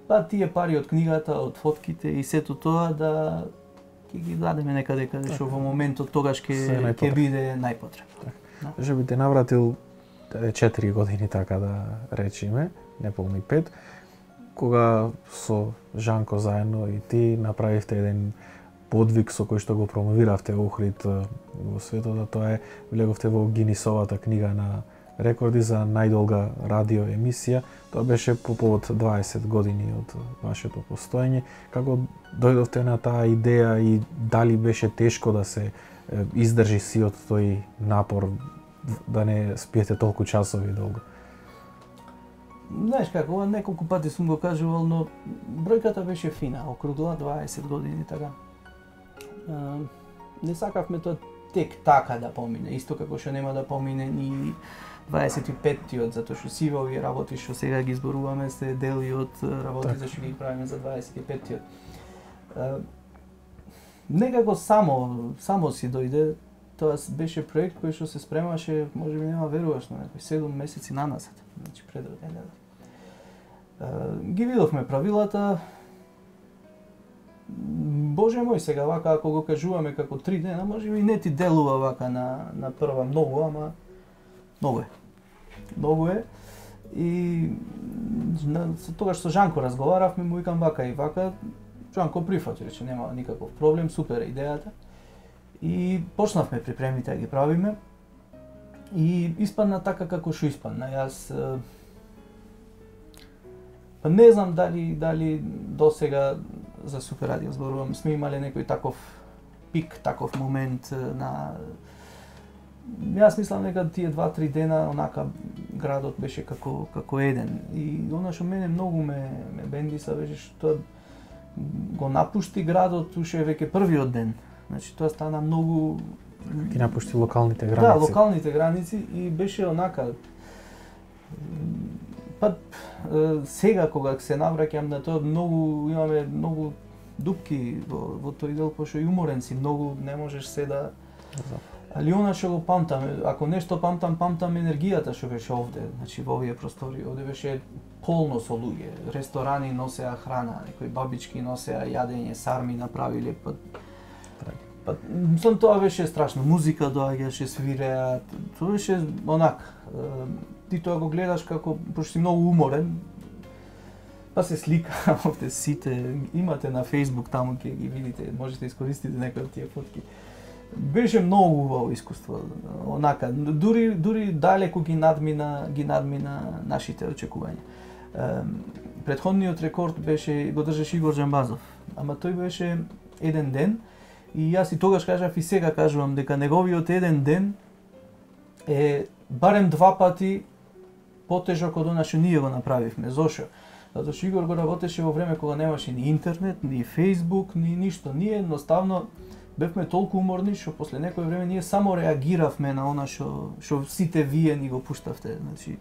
па тие пари од книгата, од фотките и сето тоа да ќе ги дадеме некаде каде што во моментот тогаш ќе ќе биде најпотребно. Може би те навратил четири години, така да речеме, неполни пет, кога со Жанко заедно и ти направивте еден подвиг со кој што го промовиравте Охрид во светот, а тоа е влеговте во Гинисовата книга на рекорди за најдолга радио емисија. Тоа беше по повод дваесет години од вашето постоење. Како дојдовте на таа идеја и дали беше тешко да се издржи сиот тој напор, да не спиете толку часови долго? Знаеш како, ова неколку пати сум го кажувал, но бројката беше фина, округла дваесет години, така. Uh, не сакавме тоа тек така да помине, исто како што нема да помине ни дваесет и петтиот, затоа што сиве овие работи што сега ги зборуваме се дел и од работите што ги правиме за дваесет и петтиот. Uh, некако само, само си дојде, тоа беше проект кој што се спремаше, може би нема веруваш, на некои седум месеци нанасет, значи пред роденденот. Uh, ги видовме правилата. Боже мој, сега вака ако го кажуваме како три дена, може би не ти делува вака на на прва многу, ама многу е. Многу е. И на, тогаш со Жанко разговаравме, му викам вака и вака. Жанко прифати, рече нема никаков проблем, супер е идејата. И почнавме припремите да ги правиме. И испадна така како што испадна. Јас па не знам дали дали досега за Супер радио зборувам, сме имале некој таков пик, таков момент на... Јас мислам дека тие два-три дена онака градот беше како како еден. И она што мене многу ме ме бендиса беше што го напушти градот уште веќе првиот ден. Значи тоа стана многу ги напушти локалните граници. Да, локалните граници и беше онака. Па сега кога се навраќам на тоа, многу имаме многу дупки во, во тој дел, пошто и уморен си, многу не можеш се да... Али она што го памтам, ако нешто памтам, памтам енергијата што беше овде, значи во овие простори, овде беше полно со луѓе, ресторани носеа храна, некои бабички носеа јадење, сарми направиле, па... Па, мислам, тоа беше страшно, музика доаѓаше, свиреа, тоа беше онак, ти тоа го гледаш како, пошто си многу уморен, па се слика овде сите, имате на Facebook, таму ќе ги видите, можете искористите некои од тие фотки. Беше многу убаво искуство, онака, дури дури далеку ги надмина, ги надмина нашите очекувања. Претходниот рекорд беше го држеше Игор Џамбазов, ама тој беше еден ден И јас и тогаш кажав и сега кажувам дека неговиот еден ден е барем два пати потежок од она што ние го направивме. Зошо? Затоа што Игор го работеше во време кога немаше ни интернет, ни Facebook, ни ништо. Ние едноставно бевме толку уморни што после некој време ние само реагиравме на она што што сите вие ни го пуштавте. Значи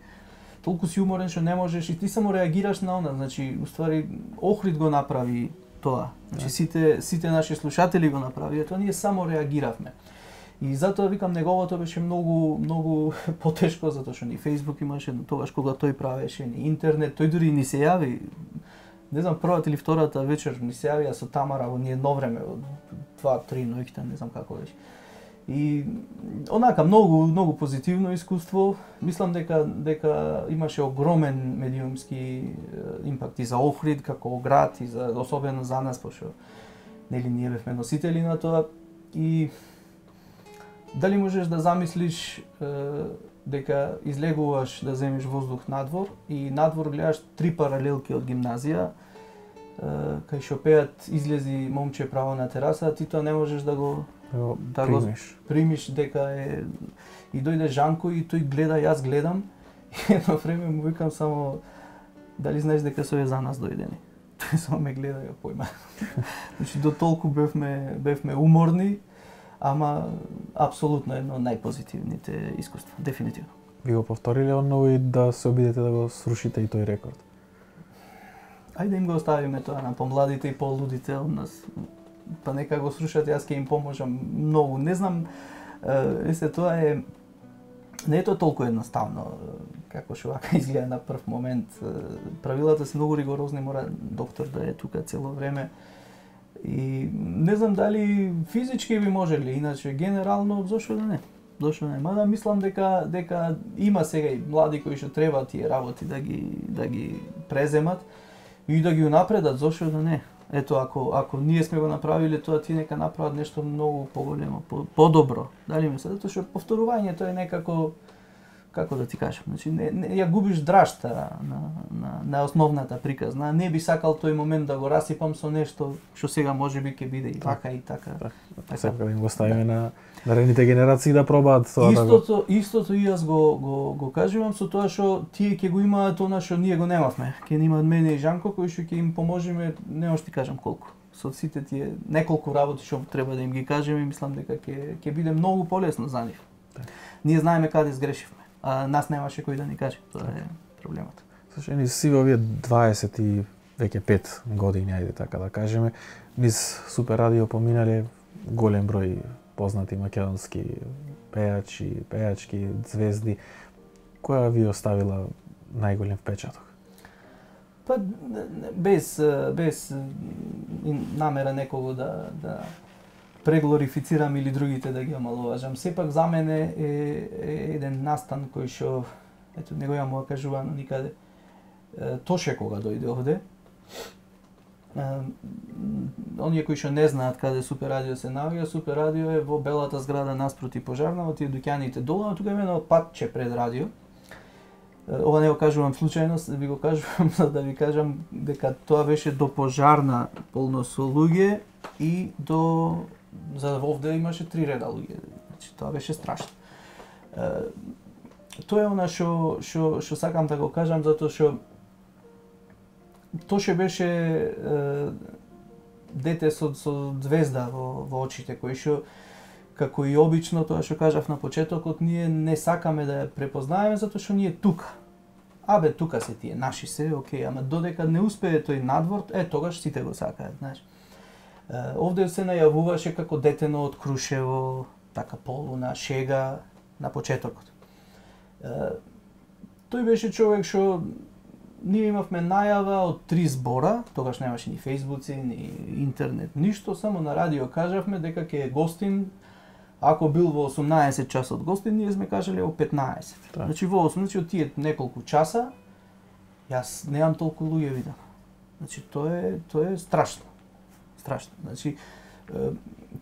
толку си уморен што не можеш и ти само реагираш на она. Значи уствари Охрид го направи тоа. Значи сите сите наши слушатели го направија тоа, ние само реагиравме. И затоа викам неговото беше многу многу потешко затоа што ни Facebook имаше тогаш кога тој правеше, ни интернет, тој дури ни се јави. Не знам, првата или втората вечер ни се јавија со Тамара во ние едно време, од два три ноќта, не знам како беше. И онака многу многу позитивно искуство. Мислам дека дека имаше огромен медиумски импакт и за Охрид како град и за особено за нас, пошто нели ние бевме носители на тоа. И дали можеш да замислиш е, дека излегуваш да земеш воздух надвор и надвор гледаш три паралелки од гимназија, е, кај што пеат излези момче право на тераса, ти тоа не можеш да го да примиш. го примиш дека е и дојде Жанко и тој гледа, јас гледам и едно време му викам само дали знаеш дека со е за нас дојдени. Тој само ме гледа и појма. Значи до толку бевме бевме уморни, ама апсолутно едно од најпозитивните искуства, дефинитивно. Ви го повториле онново и да се обидете да го срушите и тој рекорд? Ајде им го оставиме тоа на помладите и полудите од нас. Па нека го срушат, јас ќе им поможам многу. Не знам, есе тоа е не е тоа толку едноставно како што вака изгледа на прв момент. Правилата се многу ригорозни, мора доктор да е тука цело време. И не знам дали физички би можеле, иначе генерално зошто да не. Зошто не? Мада мислам дека дека има сега и млади кои што треба тие работи да ги да ги преземат и да ги унапредат, зошто да не? Ето ако ако ние сме го направиле тоа, ти нека направат нешто многу поголемо, по, подобро. Дали ми се, затоа што повторувањето е некако како да ти кажам, значи не, не ја губиш драшта на на на основната приказна. Не би сакал тој момент да го расипам со нешто што сега можеби ќе биде и вака и така. Так, така сакам да им го ставиме да. на наредните генерации да пробаат тоа. Истото, да го... истото и јас го го го кажувам со тоа што тие ќе го имаат она што ние го немавме. Ќе имаат мене и Жанко кои што ќе им поможеме, не можеш ти кажам колку. Со сите тие неколку работи што треба да им ги кажеме, мислам дека ќе ќе биде многу полесно за нив. Да. Ние знаеме каде сгрешивме. А нас немаше кој да ни каже, тоа е проблемот. Слушај, низ си во овие дваесет и веќе пет години, ајде така да кажеме, низ Супер радио поминале голем број познати македонски пејачи, пејачки, звезди. Која ви оставила најголем впечаток? Па без без намера некого да да преглорифицирам или другите да ги омаловажам. Сепак за мене е, е еден настан кој што ето него ја му кажувано никаде. Е, Тоше кога дојде овде. Е, оние кои што не знаат каде Супер радио се наоѓа, Супер радио е во белата зграда наспроти пожарна, во тие дуќаните долу, а тука има едно патче пред радио. Е, ова не го кажувам случајно, ви го кажувам за да ви кажам дека тоа беше до пожарна полно со луѓе и до за овде имаше три реда луѓе. Значи тоа беше страшно. Е, тоа е она што што што сакам да го кажам затоа што Тоше беше е, дете со со звезда во во очите кој што како и обично тоа што кажав на почетокот, ние не сакаме да ја препознаеме затоа што ние тука. Абе тука се тие наши се, окей, ама додека не успее тој надвор, е тогаш сите го сакаат, знаеш. Овде се најавуваше како детено од Крушево, така полуна шега на почетокот. Тој беше човек што ние имавме најава од три збора, тогаш немаше ни фејсбуци, ни интернет, ништо, само на радио кажавме дека ќе е гостин, ако бил во осумнаесет часот гостин, ние сме кажале во петнаесет. Да. Значи во осумнаесет, значи од тие неколку часа, јас немам толку луѓе видам. Значи тоа е тоа е страшно. Страшно. Значи,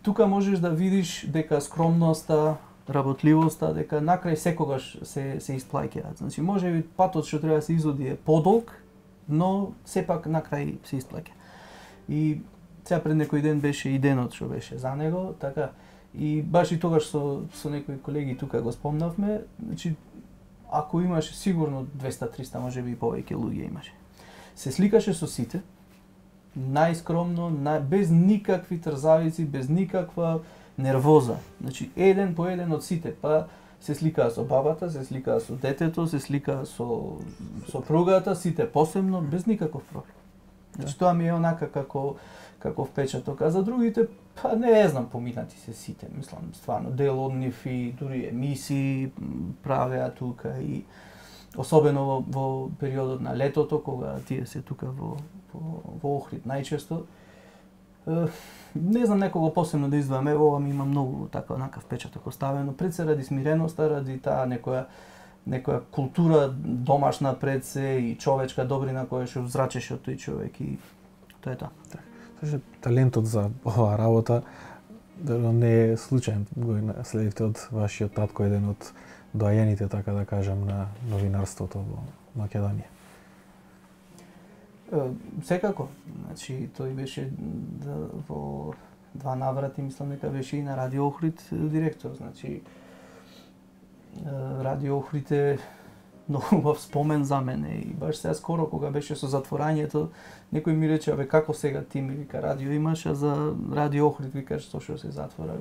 тука можеш да видиш дека скромноста, работливоста, дека накрај секогаш се се исплаќаат. Значи, можеби патот што треба да се изоди е подолг, но сепак накрај се исплаќа. И Сега пред некој ден беше и денот што беше за него, така и баш и тогаш со со некои колеги тука го спомнавме, значи ако имаше сигурно двеста триста, можеби и повеќе луѓе имаше. Се сликаше со сите, најскромно, нај, без никакви трзавици, без никаква нервоза. Значи еден по еден од сите, па се сликаа со бабата, се сликаа со детето, се сликаа со сопругата, сите посебно, без никаков проблем. Значи тоа ми е онака како како впечаток, а за другите, па не знам, поминати се сите, мислам, стварно, дел од нив и дури емисии правеа тука и особено во, во периодот на летото, кога тие се тука во, во, во Охрид најчесто. Не знам некого посебно да издвојам, ево ова ми има многу така онака впечаток оставено, пред се ради смиреноста, ради таа некоја некоја култура домашна пред се и човечка добрина која што взрачеше од тој човек и тоа е тоа. Така, талентот за оваа работа не е случаен, го следивте од вашиот татко, еден од доајените, така да кажам, на новинарството во Македонија. Секако, значи тој беше да, во два наврати, мислам дека беше и на Радио Охрид директор, значи Радио Охрид е многу убав спомен за мене и баш сега скоро кога беше со затворањето, некој ми рече, абе како сега ти ми вика радио имаш, а за Радио Охрид викаш што што се затвора.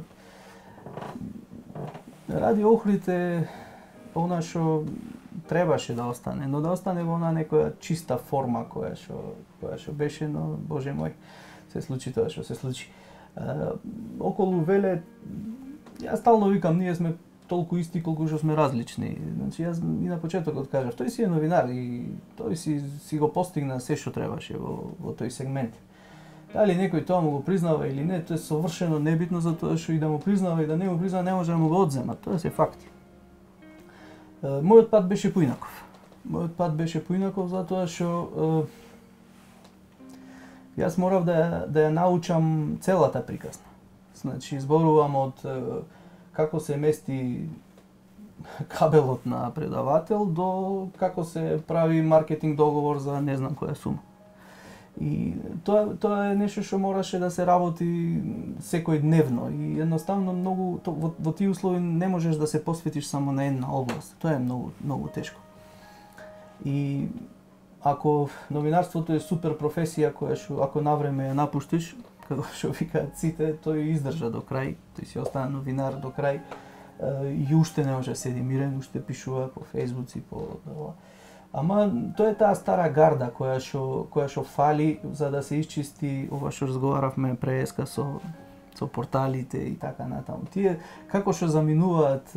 Радио Охрид е она што требаше да остане, но да остане во она некоја чиста форма која што која што беше, но боже мој, се случи тоа што се случи. А, околу Веле, јас стално викам, ние сме толку исти колку што сме различни. Значи јас и на почетокот кажав, тој си е новинар и тој си си го постигна се што требаше во во тој сегмент. Дали некој тоа му го признава или не, тоа е совршено небитно, затоа што и да му признава и да не му признава не може да му го одзема, тоа се факти. Мојот пат беше поинаков. Мојот пат беше поинаков затоа што јас морав да да ја научам целата приказна. Значи зборувам од како се мести кабелот на предавател до како се прави маркетинг договор за не знам која сума. И тоа тоа е нешто што мораше да се работи секој дневно и едноставно многу то, во, во тие услови не можеш да се посветиш само на една област. Тоа е многу многу тешко. И ако новинарството е супер професија која што ако навреме ја напуштиш, како што викаат сите, тој издржа до крај, тој си остана новинар до крај и уште не може да седи мирен, уште пишува по фејсбуци, по ама тоа е таа стара гарда која што која што фали за да се исчисти ова што разговаравме преска со со порталите и така натаму. Тие како што заминуваат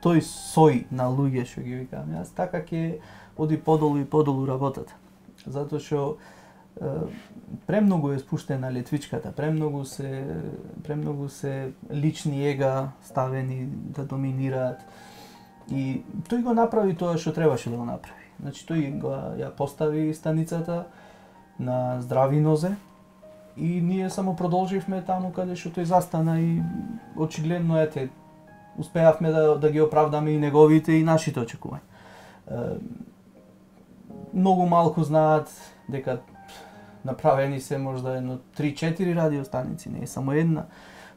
тој сој на луѓе што ги викам јас, така ќе оди подолу и подолу работата. Затоа што премногу е спуштена летвичката, премногу се премногу се лични ега ставени да доминираат. И тој го направи тоа што требаше да го направи. Значи тој го ја постави станицата на здрави нозе и ние само продолживме таму каде што тој застана и очигледно ете успеавме да да ги оправдаме и неговите и нашите очекувања. Многу малку знаат дека направени се можда едно три-четири радиостаници, не е само една.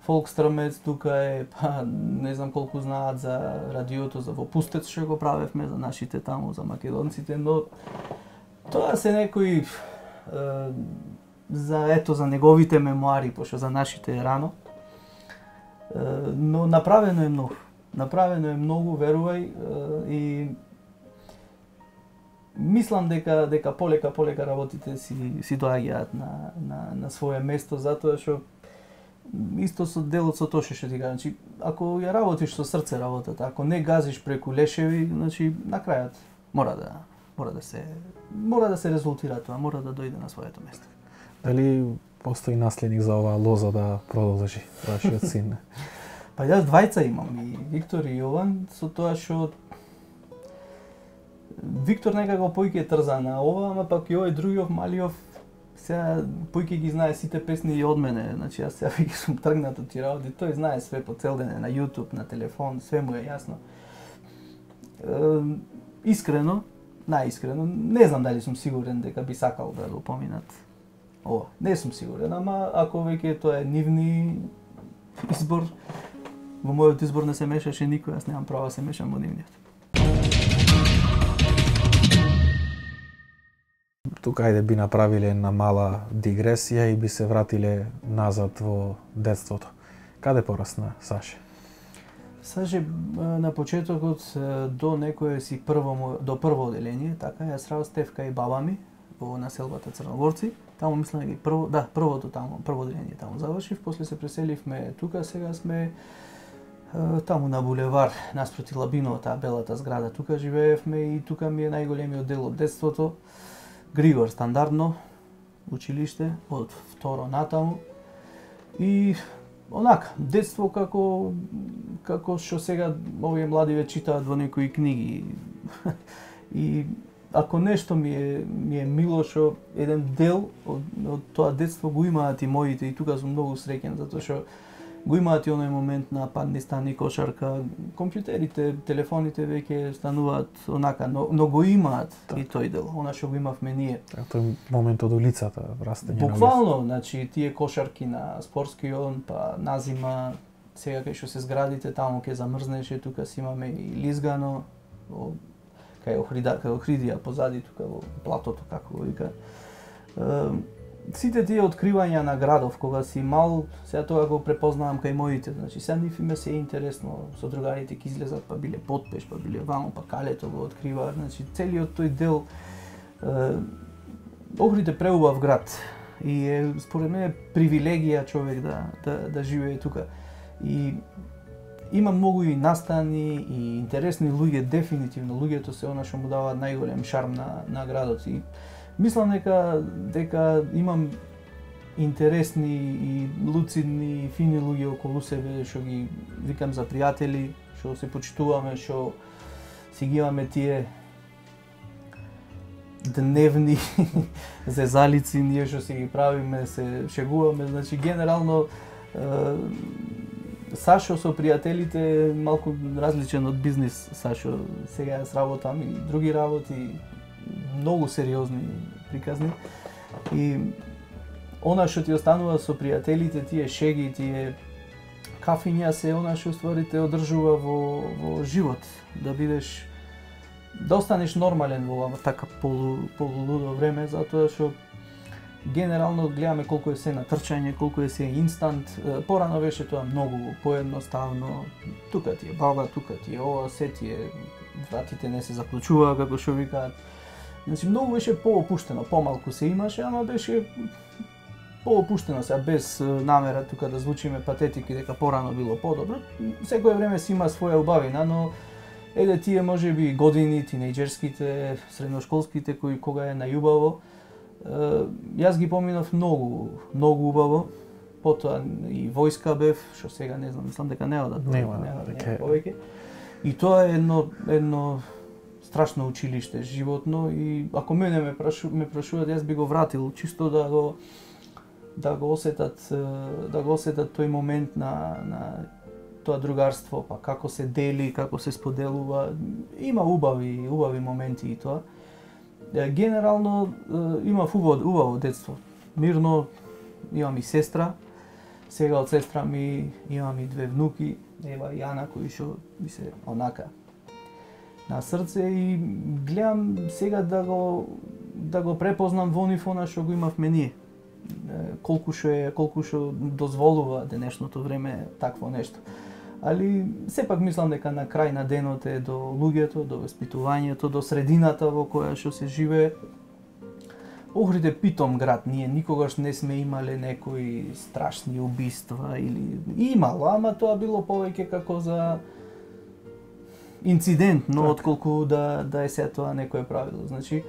Фолкстрамец тука е, па не знам колку знаат за радиото, за во Пустец што го правевме за нашите таму, за македонците, но тоа се некои е, за ето за неговите мемуари, пошто за нашите е рано. Е, но направено е многу. Направено е многу, верувај, е, и мислам дека дека полека полека работите си си доаѓаат на на на свое место, затоа што исто со делот со тоа што ти кажам, значи ако ја работиш со срце работата, ако не газиш преку лешеви, значи на крајот мора да мора да се мора да се резултира тоа, мора да дојде на своето место. Дали постои наследник за оваа лоза да продолжи вашиот син? Па јас двајца имам, и Виктор и Јован, со тоа што Виктор некако поиќе трза на ова, ама пак и овој другиот малиов сега поиќе ги знае сите песни и од мене, значи јас сега веќе сум тргнат од тие работи, тој знае све по цел ден на YouTube, на телефон, све му е јасно. Е, искрено, најискрено, не знам дали сум сигурен дека би сакал да го поминат ова. Не сум сигурен, ама ако веќе тоа е нивни избор, во мојот избор не се мешаше никој, јас немам право да се мешам во нивниот. Тука ајде би направиле една мала дигресија и би се вратиле назад во детството. Каде порасна Саше? Саше на почетокот до некое си прво до прво оделение, така јас растев кај баба ми во населбата Црногорци. Таму мислам дека прво, да, првото таму, прво оделение таму завршив, после се преселивме тука, сега сме таму на булевар наспроти Лабиново, таа белата зграда. Тука живеевме и тука ми е најголемиот дел од детството. Григор стандардно училиште од второ натаму. И онака, детство како како што сега овие млади ве читаат во некои книги. И ако нешто ми е ми е мило што еден дел од, од тоа детство го имаат и моите, и тука сум многу среќен затоа што го имаат и оној момент на падни стани кошарка, компјутерите, телефоните веќе стануваат онака, но, но го имаат так. И тој дел, она што го имавме ние. Так, тој момент од улицата, растење. Буквално, значи тие кошарки на спортскиот, па назима, сега кај што се зградите таму ќе замрзнеше, тука си имаме и лизгано, кај Охрида, кај Охридија позади тука во платото како го вика. Сите тие откривања на градов кога си мал, сега тоа го препознавам кај моите, значи сега нив име се интересно, со другарите ќе излезат, па биле Потпеш, па биле вамо, па Калето го откриваат, значи целиот тој дел е, Охрид е преубав град и е според мене привилегија човек да да да живее тука. И има многу и настани и интересни луѓе, дефинитивно луѓето се она што му даваат најголем шарм на на градот. И мислам дека дека имам интересни и луцидни и фини луѓе околу себе што ги викам за пријатели, што се почитуваме, што си ги имаме тие дневни зезалици, ние што си ги правиме, се шегуваме, значи генерално Сашо со пријателите е малку различен од бизнис Сашо. Сега јас работам и други работи, многу сериозни приказни. И она што ти останува со пријателите, тие шеги, тие кафиња се она што ствари те одржува во, во живот. Да бидеш, да останеш нормален во ова така полу, полулудо време, затоа што генерално гледаме колку е се на трчање, колку е се инстант. Порано беше тоа многу поедноставно. Тука ти е баба, тука ти е ова, се ти е, вратите не се заклучува, како што викаат. Значи многу беше поопуштено, помалку се имаше, ама беше поопуштено сега, без намера тука да звучиме патетики дека порано било подобро. Секое време си има своја убавина, но еде тие можеби години, тинејџерските, средношколските, кои кога е најубаво, јас ги поминав многу, многу убаво. Потоа и војска бев, што сега не знам, мислам дека не одат, нема, нема дека повеќе. И тоа е едно едно страшно училиште животно и ако мене ме прашу, ме прашуваат, јас би го вратил чисто да го да го осетат да го осетат тој момент на на тоа другарство, па како се дели, како се споделува. Има убави, убави моменти и тоа. Генерално имав убаво, убаво детство. Мирно, имам и сестра. Сега од сестра ми имам и две внуки, Ева и Ана, кои што ми се онака на срце и гледам сега да го да го препознам во нив она што го имавме ние. Колку што е, колку што дозволува денешното време такво нешто. Али сепак мислам дека на крај на денот е до луѓето, до воспитувањето, до средината во која што се живее. Охрид е питом град, ние никогаш не сме имале некои страшни убиства или имало, ама тоа било повеќе како за инцидент, но отколку да да е се тоа некое правило. Значи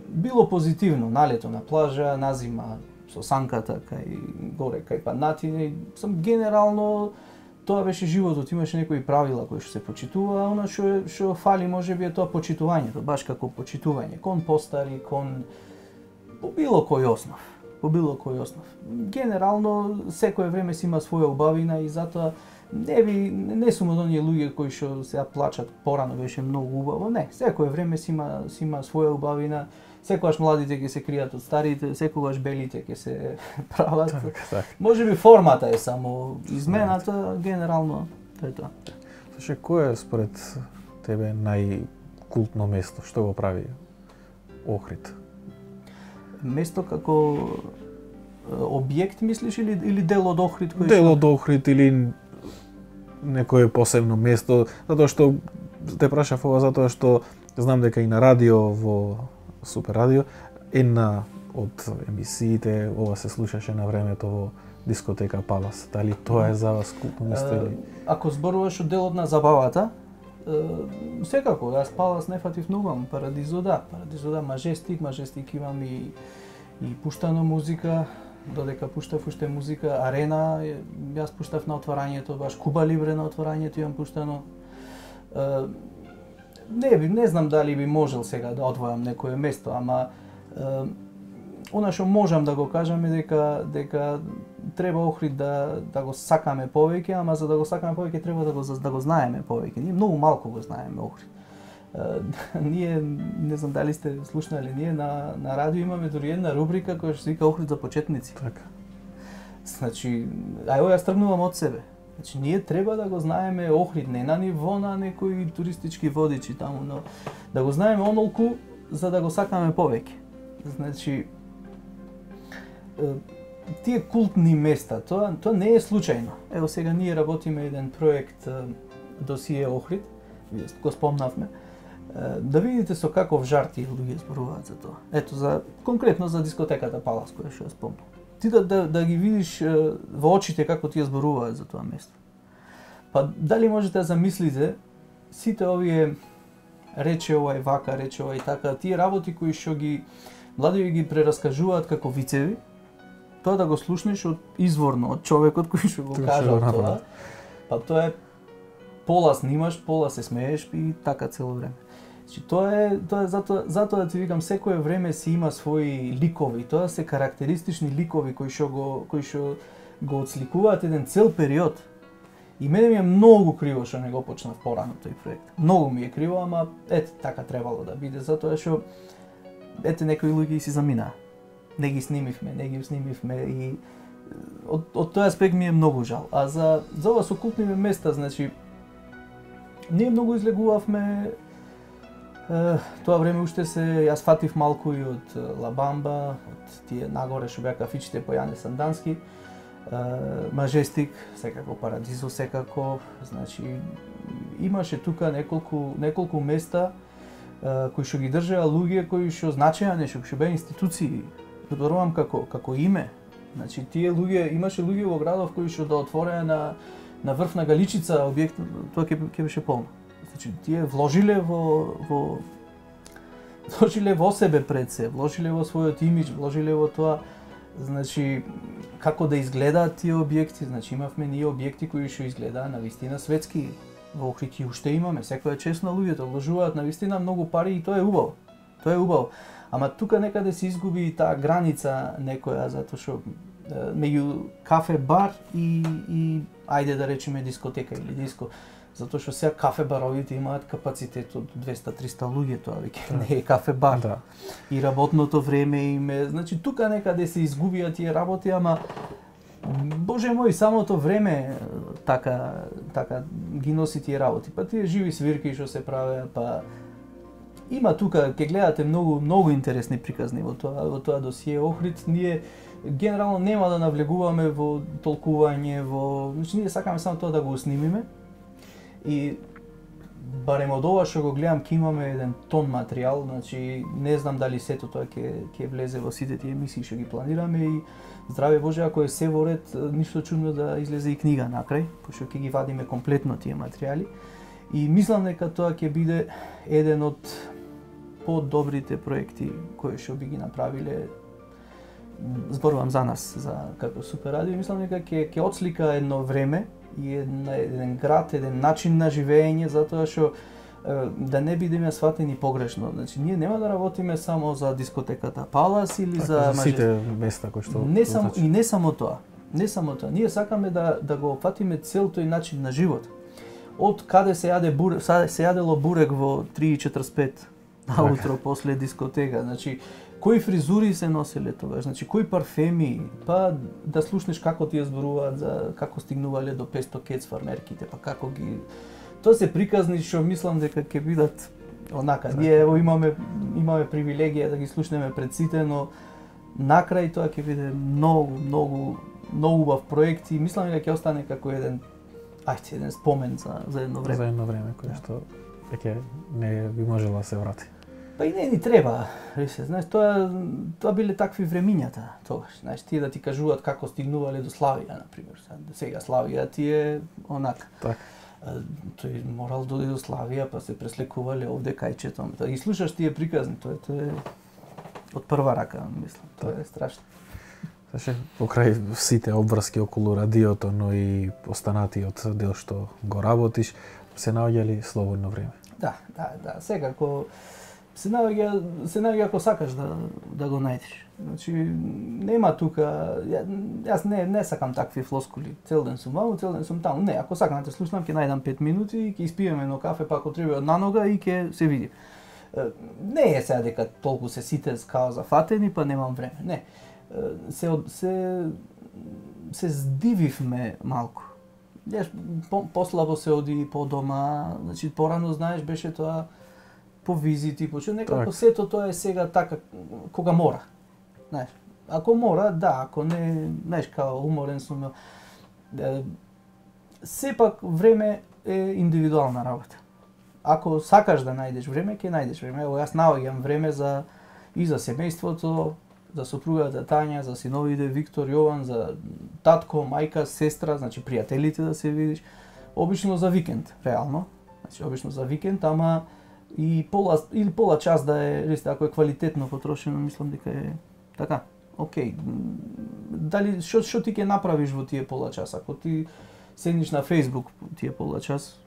било позитивно, налето на плажа, назима со санката кај горе кај Панатини, сам генерално тоа беше животот, имаше некои правила кои што се почитува, а она што што фали можеби е тоа почитувањето, баш како почитување кон постари, кон по било кој основ, по било кој основ. Генерално секое време си има своја убавина и затоа не би не сум од оние луѓе кои што сега плачат порано беше многу убаво, не, секое време си има си има своја убавина секогаш младите ќе се кријат од старите, секогаш белите ќе се прават. Так, так. Можеби формата е само измената, генерално тоа е тоа. Слушај, кој е според тебе најкултно место? Што го прави Охрид? Место како објект мислиш или или дел од Охрид кој Дел од Охрид или некое посебно место, затоа што те прашав ова затоа што знам дека и на радио во Супер радио една од емисиите ова се слушаше на времето во дискотека Палас. Дали тоа е за вас култно место или? Ако зборуваш од делот на забавата, секако, јас Палас не фатив многу, ама Парадизо да, Парадизо да, Мажестик, Мажестик имам и и пуштано музика, додека пуштав уште музика, Арена, јас пуштав на отворањето, баш Куба Либре на отворањето имам пуштано. Не би, не знам дали би можел сега да одвојам некое место, ама она што можам да го кажам е дека дека треба Охрид да да го сакаме повеќе, ама за да го сакаме повеќе треба да го да го знаеме повеќе. Ние многу малку го знаеме Охрид. Ние не знам дали сте слушнали, ние на на радио имаме дури една рубрика која што се вика Охрид за почетници. Така. Значи, ај јас тргнувам од себе. Значи, ние треба да го знаеме Охрид, не на ниво на некои туристички водичи таму, но да го знаеме онолку за да го сакаме повеќе. Значи, тие култни места, тоа тоа не е случајно. Ево сега ние работиме еден проект досие Охрид, го спомнавме, да видите со каков жар тие луѓе зборуваат за тоа. Ето за конкретно за дискотеката Палас која што ја спомнав. Ти да, да, да ги видиш во очите како тие зборуваат за тоа место. Па дали можете да замислите сите овие рече ова е вака, рече ова и така, тие работи кои што ги млади ги прераскажуваат како вицеви, тоа да го слушнеш од изворно од човекот кој што го кажал тоа. Па тоа е пола снимаш, пола се смееш и така цело време. Значи тоа е тоа е затоа затоа да ти викам секое време си има своји ликови, тоа се карактеристични ликови кои што го кои што го отсликуваат еден цел период. И мене ми е многу криво што не го почнав порано тој проект. Многу ми е криво, ама ете така требало да биде затоа што ете некои луѓе си заминаа. Не ги снимивме, не ги снимивме и од од тој аспект ми е многу жал. А за за ова со култните места, значи ние многу излегувавме е, тоа време уште се јас фатив малку и од Лабамба, од тие нагоре што беа кафичите по Јане Сандански, Мажестик, секако Парадизо, секако, значи имаше тука неколку неколку места е, кои што ги држеа луѓе кои што значеа нешто, кои што беа институции. Зборувам како како име. Значи тие луѓе имаше луѓе во градов кои што да отвореа на на врв на Галичица објект, тоа ќе ќе беше полно. Значи тие вложиле во во вложиле во себе пред се, вложиле во својот имиџ, вложиле во тоа, значи како да изгледаат тие објекти, значи имавме ние објекти кои што изгледаа на вистина светски. Во Охрид и уште имаме, секоја чест на луѓето вложуваат на вистина многу пари и тоа е убаво. Тоа е убаво. Ама тука некаде се изгуби и таа граница некоја затоа што меѓу кафе бар и и ајде да речеме дискотека или диско, затоа што сега кафе баровите имаат капацитет од двеста-триста луѓе, тоа веќе не е кафе бар. Да. И работното време им е, значи тука некаде се изгубија тие работи, ама Боже мој, самото време така така ги носи тие работи. Па тие живи свирки што се правеа, па има тука, ќе гледате многу многу интересни приказни во тоа во тоа досие Охрид. Ние генерално нема да навлегуваме во толкување, во, значи ние сакаме само тоа да го снимиме. И барем од ова што го гледам ќе имаме еден тон материјал, значи не знам дали сето тоа ќе ќе влезе во сите тие емисии што ги планираме и здраве Боже, ако е се во ред, ништо чудно да излезе и книга накрај, пошто ќе ги вадиме комплетно тие материјали. И мислам дека тоа ќе биде еден од подобрите проекти кои што би ги направиле, зборувам за нас, за како Супер радио, мислам дека ќе ќе отслика едно време и еден, еден град, еден начин на живење, затоа што да не бидеме сватени погрешно. Значи ние нема да работиме само за дискотеката Палас или така, за, за сите места кои што не само и не само тоа. Не само тоа. Ние сакаме да да го опфатиме цел тој начин на живот. Од каде се јаде бурек, се јадело бурек во три и четрдесет и пет наутро после дискотека, значи кои фризури се носеле тогаш, значи кои парфеми, па да слушнеш како ти ја зборуваат за како стигнувале до песто кец фармерките, па како ги тоа се приказни што мислам дека ќе бидат онака. Ние ево имаме имаме привилегија да ги слушнеме пред сите, но накрај тоа ќе биде многу, многу, многу убав проект и мислам дека ќе остане како еден ајде еден спомен за за едно време. За едно време кој што веќе не би можела да се врати. Па и не ни треба, се, знаеш, тоа тоа биле такви времињата тогаш. Знаеш, тие да ти кажуваат како стигнувале до Славија, на пример. Сега Славија ти е онака. Така. Тој морал да дојде до Славија, па се преслекувале овде кајчето. И слушаш тие приказни, тоа тоа е од прва рака, мислам. Тоа е страшно. Значи, покрај сите обврски околу радиото, но и останатиот дел што го работиш, се наоѓали слободно време. Да, да, да. Сега ако се наоѓа, се наоѓа ако сакаш да да го најдеш. Значи нема тука, ја, јас не не сакам такви флоскули. Цел ден сум ваму, цел ден сум таму. Не, ако сакам да те слушнам, ќе најдам пет минути и ќе испиеме едно кафе, па ако треба на нога и ќе се види. Не е сега дека толку се сите као зафатени, па немам време. Не. Се се се здививме малку. Јас по, послабо се оди по дома, значи порано знаеш беше тоа по визити, по што некако сето тоа е сега така кога мора. Знаеш, ако мора, да, ако не, знаеш, као уморен сум. Сепак време е индивидуална работа. Ако сакаш да најдеш време, ќе најдеш време. Ево јас наоѓам време за и за семејството, за сопругата Тања, за синовите Виктор, Јован, за татко, мајка, сестра, значи пријателите да се видиш. Обично за викенд, реално. Значи обично за викенд, ама и пола или пола час да е, ресте, ако е квалитетно потрошено, мислам дека е така. Океј. Дали што што ти ќе направиш во тие пола час? Ако ти седниш на Facebook тие пола час,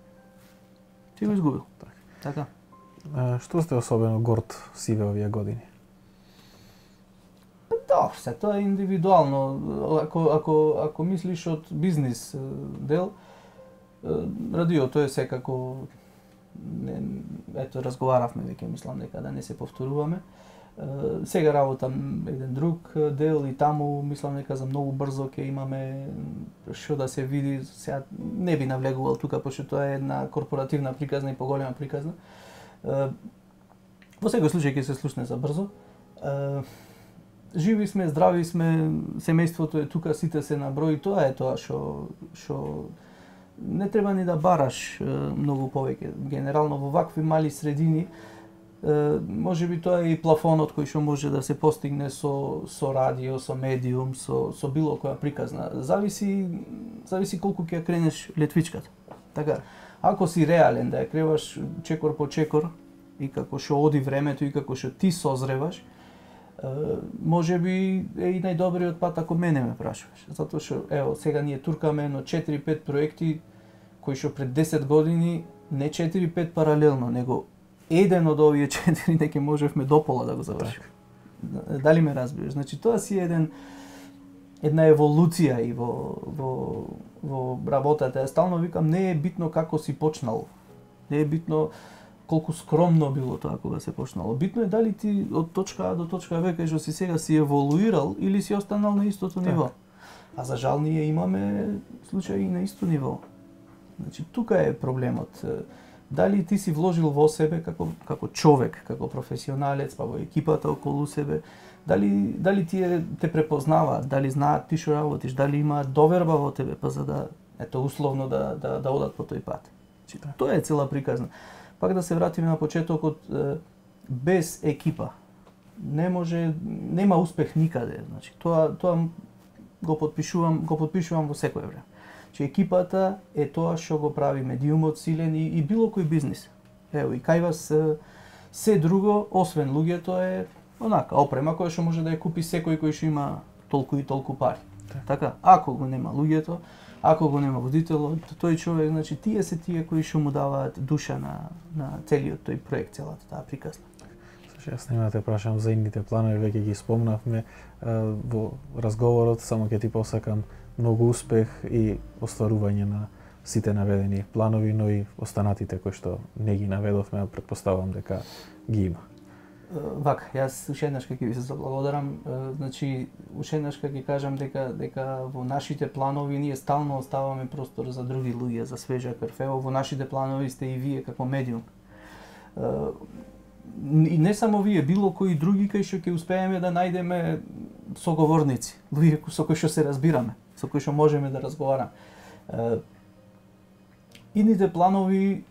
ти го изгубил. Так. Така. А, што сте особено горд сиве овие години? Да, се тоа е индивидуално. Ако ако ако мислиш од бизнис дел, радиото е секако не, ето разговаравме веќе, мислам дека да не се повторуваме. Сега работам еден друг дел и таму мислам дека за многу брзо ќе имаме што да се види. Сега не би навлегувал тука пошто тоа е една корпоративна приказна и поголема приказна. Во секој случај ќе се слушне за брзо. Живи сме, здрави сме, семејството е тука, сите се на број, тоа е тоа што што не треба ни да бараш многу повеќе. Генерално во вакви мали средини можеби тоа е и плафонот кој што може да се постигне со со радио, со медиум, со со било која приказна. Зависи зависи колку ќе кренеш летвичката. Така, ако си реален да ја креваш чекор по чекор и како што оди времето и како што ти созреваш, можеби е и најдобриот пат ако мене ме прашуваш. Затоа што ево сега ние туркаме но четири пет проекти кои што пред десет години не четири пет паралелно, него еден од овие четири неќе можевме допола да го завршиме. Дали ме разбираш? Значи тоа си еден една еволуција и во во во работата. Ја стално викам не е битно како си почнал. Не е битно колку скромно било тоа кога се почнало. Битно е дали ти од точка А до точка Б кај што си сега си еволуирал или си останал на истото так. Ниво. А за жал ние имаме случаи на исто ниво. Значи тука е проблемот. Дали ти си вложил во себе како како човек, како професионалец, па во екипата околу себе, дали дали тие те препознаваат, дали знаат ти што работиш, дали имаат доверба во тебе, па за да ето условно да да да одат по тој пат. Значи тоа е цела приказна. Пак да се вратиме на почетокот, без екипа не може, нема успех никаде. Значи тоа тоа го потпишувам, го потпишувам во секое време. Че екипата е тоа што го прави медиумот силен и, и било кој бизнис. Ево и кај вас се друго освен луѓето е онака опрема која што може да ја купи секој кој што има толку и толку пари. Так. Така, ако го нема луѓето, ако го нема водителот, тој човек, значи тие се тие кои што му даваат душа на на целиот тој проект, целата таа приказна. Јас нема да те прашам за идните планови, веќе ги спомнавме во разговорот, само ќе ти посакам многу успех и остварување на сите наведени планови, но и останатите кои што не ги наведовме, претпоставувам дека ги има. Вака, јас уште еднаш ќе ви се заблагодарам. Значи, уште еднаш ќе кажам дека дека во нашите планови ние стално оставаме простор за други луѓе, за свежа крв. Ево, во нашите планови сте и вие како медиум. И не само вие, било кои други кај што ќе успееме да најдеме соговорници, луѓе со кои што се разбираме, со кои што можеме да разговараме. Идните планови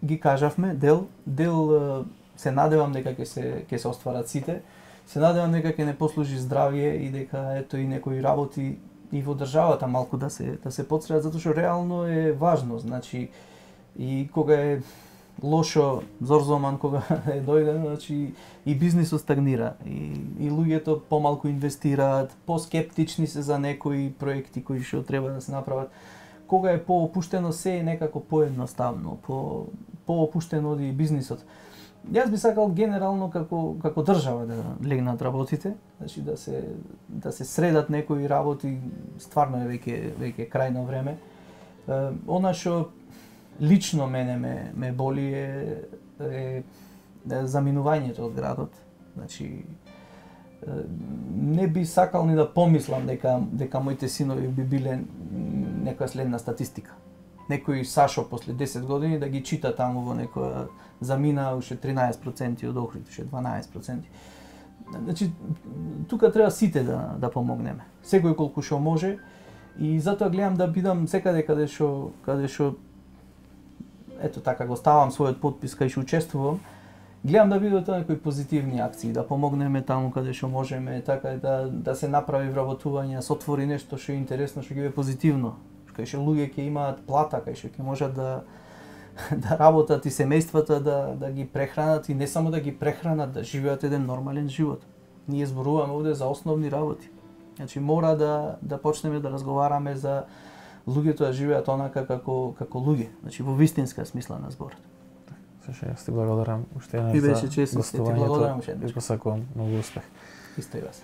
ги кажавме, дел, дел се надевам дека ќе се ќе се остварат сите. Се надевам дека ќе не послужи здравје и дека ето и некои работи и во државата малку да се да се подсредат, затоа што реално е важно, значи и кога е лошо зорзоман, кога е дојде, значи и бизнисот стагнира и и луѓето помалку инвестираат, поскептични се за некои проекти кои што треба да се направат. Кога е поопуштено се е некако поедноставно, по поопуштено оди бизнисот. Јас би сакал генерално како како држава да легнат работите, значи да се да се средат некои работи, стварно е веќе веќе крајно време. Е, она што лично мене ме ме боли е, е, е заминувањето од градот. Значи е, не би сакал ни да помислам дека дека моите синови би биле некоја следна статистика. Некој Сашо после десет години да ги чита таму во некоја замина уште тринаесет проценти од Охрид, уште дванаесет проценти. Значи тука треба сите да да помогнеме. Секој колку што може и затоа гледам да бидам секаде каде што каде што ето така го ставам својот потпис кај што учествувам. Гледам да бидат некои позитивни акции, да помогнеме таму каде што можеме, така да да се направи вработување, да се отвори нешто што е интересно, што ќе е позитивно, кај што луѓе ќе имаат плата, кај што ќе можат да да работат и семејствата да да ги прехранат и не само да ги прехранат, да живеат еден нормален живот. Ние зборуваме овде за основни работи. Значи мора да да почнеме да разговараме за луѓето да живеат онака како како луѓе, значи во вистинска смисла на зборот. Саше, јас ти благодарам уште еднаш за гостувањето. Ти посакувам многу успех. Исто и вас.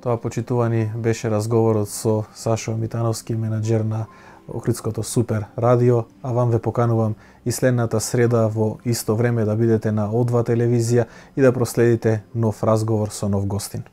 Тоа, почитувани, беше разговорот со Сашо Митановски, менаџер на Охридското Супер Радио, а вам ве поканувам и следната среда во исто време да бидете на О два телевизија и да проследите нов разговор со нов гостин.